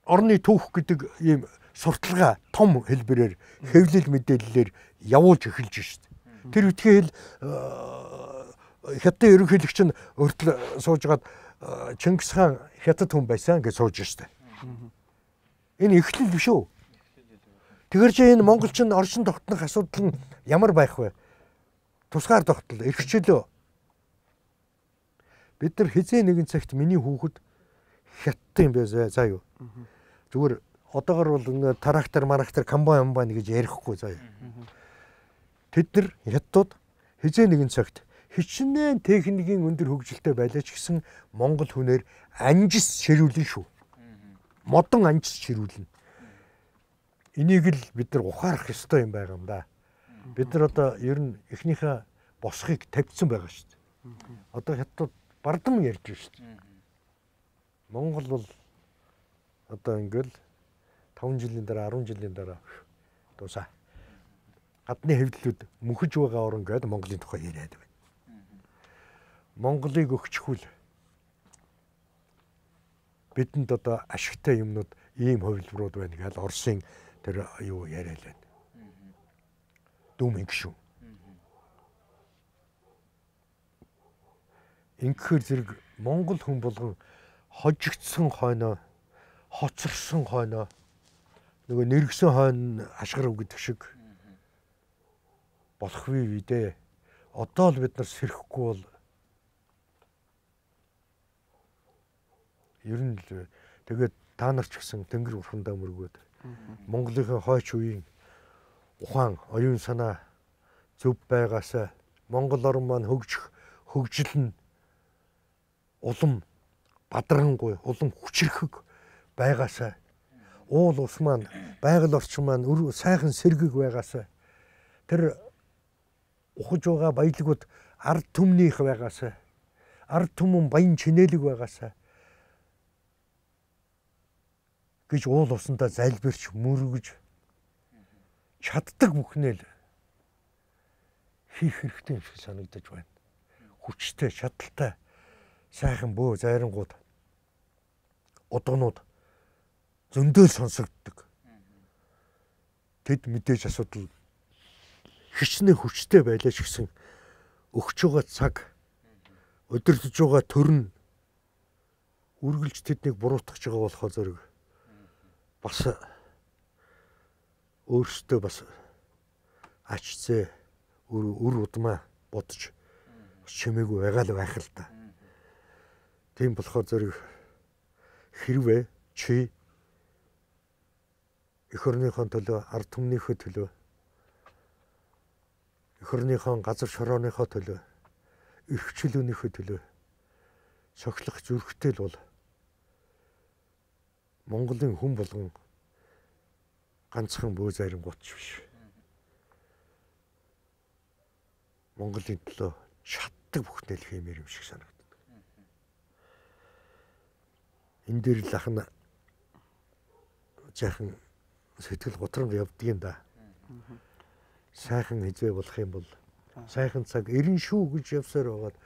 орны түүх гэдэг ийм сурталгаа том хэлбэрээр хэвлэл мэдээллээр явуулж эхэлж шít. Тэр үтгээл хятадын ерөнхийлөгч нь өртөл суужгаад Чингис хаан хятад хүн байсан гэж сууж шít. Энэ эхлэл биш үү? Тэгэр чи энэ монголчин оршин тогтнох асуудал нь ямар байх вэ? Тусгаар тогтол эрхчлөө. Бид нар хизээ нэгэн цагт миний хүүхэд хятад юм байсаа заа юу. Зүгээр одоогор бол ингээ трактор марактор комбайн амбайн гэж ярихгүй заа юу. Тэд нар хятадууд хизээ нэгэн цагт хичнээн техникийн өндөр хөгжилтэй байлаа ч гэсэн монгол хүнээр анжис ширүүлнэ шүү. Модон анжис ширүүлнэ. Энийг л бид нар ухаарах ёстой юм байгаа юм да. Бид нар одоо ер нь эхнийхээ босхийг тавьсан байгаа шүү дээ. Одоо хятадууд бардам ярьж байна шүү дээ. Монгол бол одоо ингээл таван жилийн дараа арван жилийн дараа дуусаа. Гадны хэвлэлүүд мөнхөж байгаа орн гэдэг Монголын тухай яриад байна. Монголыг өгчихвэл бидэнд одоо ашигтай юмнууд ийм хувилбарууд байна гэж Оросын тэр юу яриад байна. Дүм ингэшүү. Ингэхээр зэрэг Монгол хүн болгон хожигдсон хойноо, хоцорсон хойноо нөгөө нэргсэн хойно ашгарав гэдэг шиг болох вэ дээ. Одоо л бид нар сэрхэхгүй бол ер нь л тэгээд та нар ч гэсэн тэнгэр бурхандаа мөргөөд Монголын хойч үеийн ухаан оюун санаа зөв байгаасаа Монгол орн маань хөгжих хөгжил нь улам бадрангуй улам хүчрэхэг байгаасаа уул ус маань байгаль орчин маань сайхан сэргэг байгаасаа тэр ухаж байгаа баялагууд ард түмнийх байгаасаа ард түмэн баян чинэлэг байгаасаа гэж уул усандаа залбирч мөргөж чаддаг бүхнээ л хийх хэрэгтэй юм шиг санагдаж байна. Хүчтэй, чадaltaй сайхан бөө зайрангууд удагнууд зөндөөл сонсогддог. Тэд мэдээж асуудал хичнээн хүчтэй байлаа ч гэсэн өгч байгаа цаг өдөрлөж байгаа төрн үргэлж тэднийг буруутгах байгаа болохоор зэрэг бас өөртөө бас ачцээ үр удмаа бодож чимээгүй байгаа л байх л та. Тийм болохоор зэрэг хэрвээ чи эх орныхон төлөө, ард түмнийхөө төлөө, эх орныхон газар шорооныхоо төлөө, эрхчлөөнийхөө төлөө цоглох зүрхтэй л бол Монголын хүн болгон ганцхан бөө зайрангуут биш. Монголын төлөө чаддаг бүхнэл хиймээр юм шиг санагдав. Энэ дээр л ахна жаахан сэтгэл готромд явдаг юм да. Сайхан хизээ болох юм бол сайхан цаг эрен шүү гэж явсаар байгаад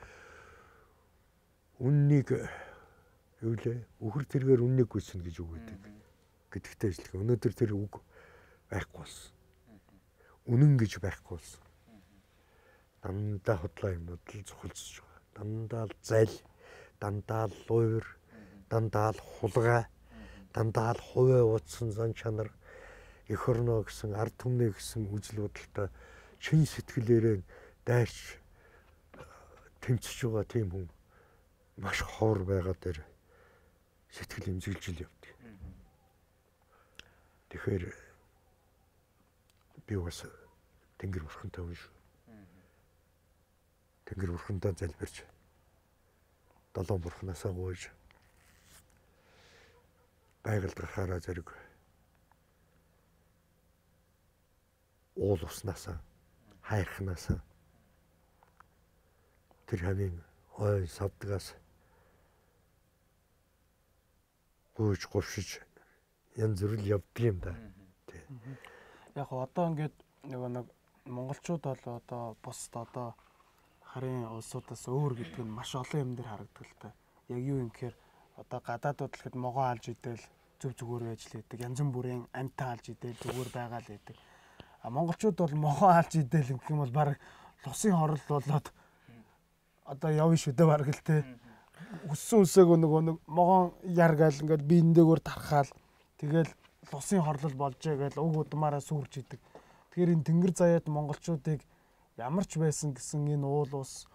үннийг юу лээ үхэр тэргээр үннийг гүйсэн гэж үг гэдэг. Гэдэгтэй ажиллах. Өнөөдөр тэр үг байхгүй болсон. Үнэн гэж байхгүй болсон. Дандаа хотлоо юмнууд л цохолцож байгаа. Дандаа л зал, дандаа л луур, дандаа л хулгай, дандаа л хувиа утсан зан чанар эх орноо гэсэн ард түмнээ гэсэн үзэл бодолтой чин сэтгэлээрээ дайрч тэмцэж байгаа тийм хүн маш ховор байгаа дээр сэтгэл имзэглэж явдаг. Тэгэхээр би бас тэнгэр бурхантай хүн шүү. Тэнгэр бурхандаа залбирч долоон бурхнаасаа гуйж байгальд гарахаараа зэрэг уул уснасаа хайрхнаасаа тэр хавийн ой савдгаас гуйж говшиж янз бүр явдаг юм да. Яг одоо ингээд нөгөө нэг монголчууд бол одоо бусд одоо харын улсуудаас өөр гэдэг нь маш олон юм дээр харагддаг л та. Яг юу юм гэхээр одоо гадаадууд л хэд могоо алж идэл зүв зүгээр байж л байдаг. Янз бүрийн амьтаа алж идэл зүгээр байгаа л байдаг. А монголчууд бол могоо алж идэл гэх юм бол баг лусын хорол болоод одоо явна шүү дээ баг л те. Өссөн үсээг нөгөө нэг могоон яргаал ингээд биендээгөр тархаал тэгэл лусын хорлол болж байгаа гэл уг удмаараа сүрж идэг. Тэгэхээр энэ тэнгэр заяад монголчуудыг ямар ч байсан гэсэн энэ уул ус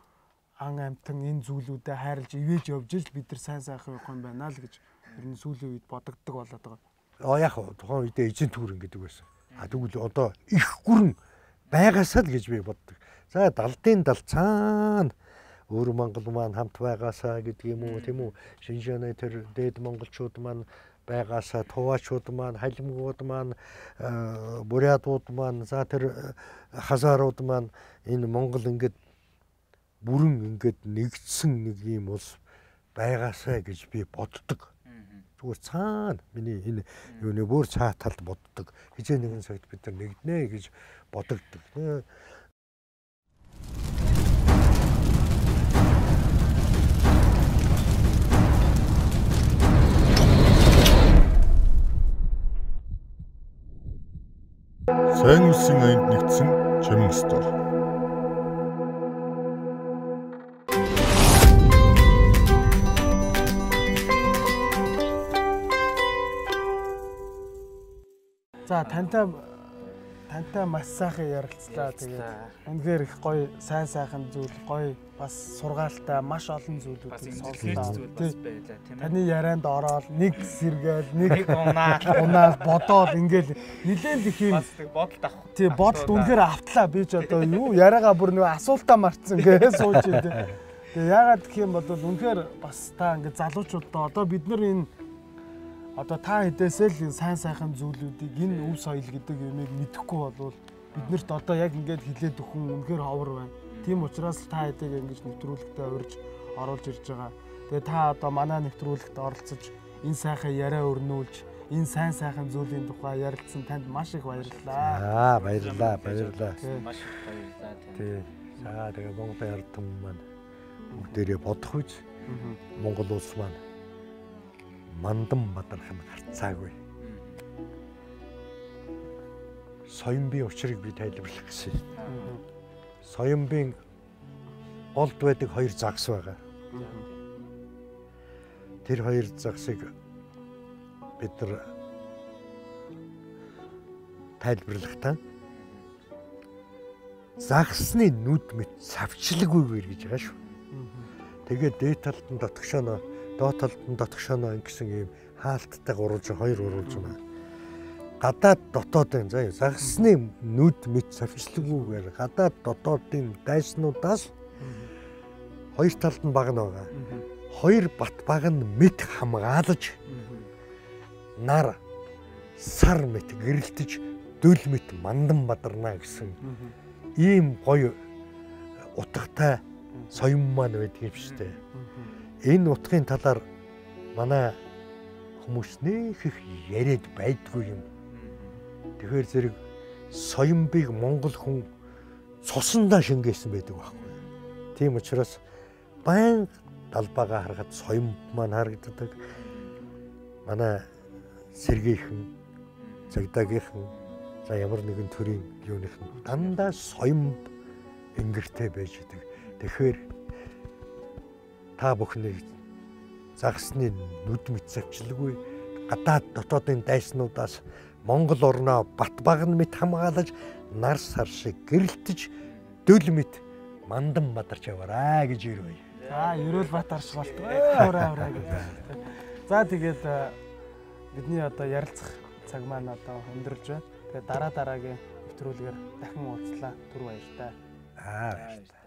ан амтан энэ зүйлүүдэд хайрлж ивэж явж ил бид нар сайн сайхан явах юм байна л гэж ер нь сүүлийн үед бодогддог болоод байгаа. Аа яг тухайн үедээ эзэн түүрэн гэдэг байсан. А тэгвэл одоо их гүрэн байгаасаа л гэж би боддог. За далдын дал цаана өөр Монгол маань хамт байгаасаа гэдэг юм уу тийм үү? Шинжээний тэр дээд монголчууд маань байгаасаа туваачууд маань, халимгууд маань, бурятууд маань, за тэр хазаарууд маань энэ Монгол ингээд бүрэн ингээд нэгдсэн нэг юм улс байгаасаа гэж би боддог. Зүгээр цаана миний энэ юуны бүр цаа талд боддог. Хизээ нэгэн цагт бид нар нэгднэ гэж бодогддог. Сайн үлсийн аянд нэгдсэн Чимэн стор. За тантай тантай маш сайхан ярилцлаа. Тэгээд үнэхээр их гоё сайн сайхан зүйл гоё бас сургаалтай маш олон зүйлүүдийг сонслоо. Таны ярианд ороод нэг сэргээл нэг унаад бодоод ингээл нилээн их юм бодолд авах. Тий бодолд үнэхээр автлаа. Би ч одоо юу яриагаа бүр нэг асуултаа марцсан гээ сууж дээ. Тэгээ яагаад гэх юм бол үнэхээр бас та ингээд залуучуудаа одоо бид нар энэ одоо та хэдээсээ л сайн сайхан зүйлүүдийг энэ өв соёл гэдэг юмыг мэдэхгүй болвол биднэрт одоо яг ингээд хилээд өхөн үнэхээр ховор байна. Тийм учраас та хэдийг ингэж нэвтрүүлэгтээ урьж оруулж ирж байгаа. Тэгээ та одоо манай нэвтрүүлэгт оролцож энэ сайхан яриа өрнүүлж энэ сайн сайхан зүйлийн тухай ярилцсан танд маш их баярлалаа. Аа баярлалаа, баярлалаа. Маш их баярлалаа. Тий. За тэгээ Монголын ардтан маань бүгдээрээ бодох үз. Монгол улс маань Мандан Бадархан гарцаагүй. Соёмбын учрыг би тайлбарлах гэсэн. Соёмбын голд байдаг хоёр загас байгаа. Тэр хоёр загсыг бид нар тайлбарлахдаа загсны нүд мэт савчлаггүйгээр гэж байгаа шүү. Тэгээд дээд талд нь дотгошоно доод талд нь дотгошоно гэсэн ийм хаалттай гурван хоёр уруулж байна. Гадаад дотоодын заа загсны нүд мэт савчлаггүйгээр гадаад дотоодын дайснуудаас хоёр талд нь баг нь байгаа. Хоёр бат баг нь мэт хамгаалж нар сар мэт гэрэлтэж дөл мэт мандан бадарна гэсэн ийм гоё утгатай соём маань байдаг юм шүү дээ. Энэ утгын талаар манай хүмүүс нэх их яриад байдгүй юм. Тэгэхээр зэрэг соёмбыг монгол хүн цусандаа шингээсэн байдаг байхгүй. Тийм учраас баян далбаагаа харахад соём маань харагддаг. Манай сэргийхэн, цагдаагийнхан, за ямар нэгэн төрлийн юуныхан дандаа соёмб ингэртэй байж идэг. Тэгэхээр та бүхний загсны нүд мэт савчлаггүй гадаад дотоодын дайснуудаас Монгол орноо бат баг мэт хамгаалж нар сар шиг гэрэлтэж дөл мэт мандан бадарч яваарай гэж ирвэ. За ерөөл бат арш болтгоо. Авраа авраа гэж. За тэгээд бидний одоо ярилцах цаг маань одоо өндөрлж байна. Тэгээд дараа дараагийн нэвтрүүлгээр дахин уулзлаа. Түр баяртай. Аа баяртай.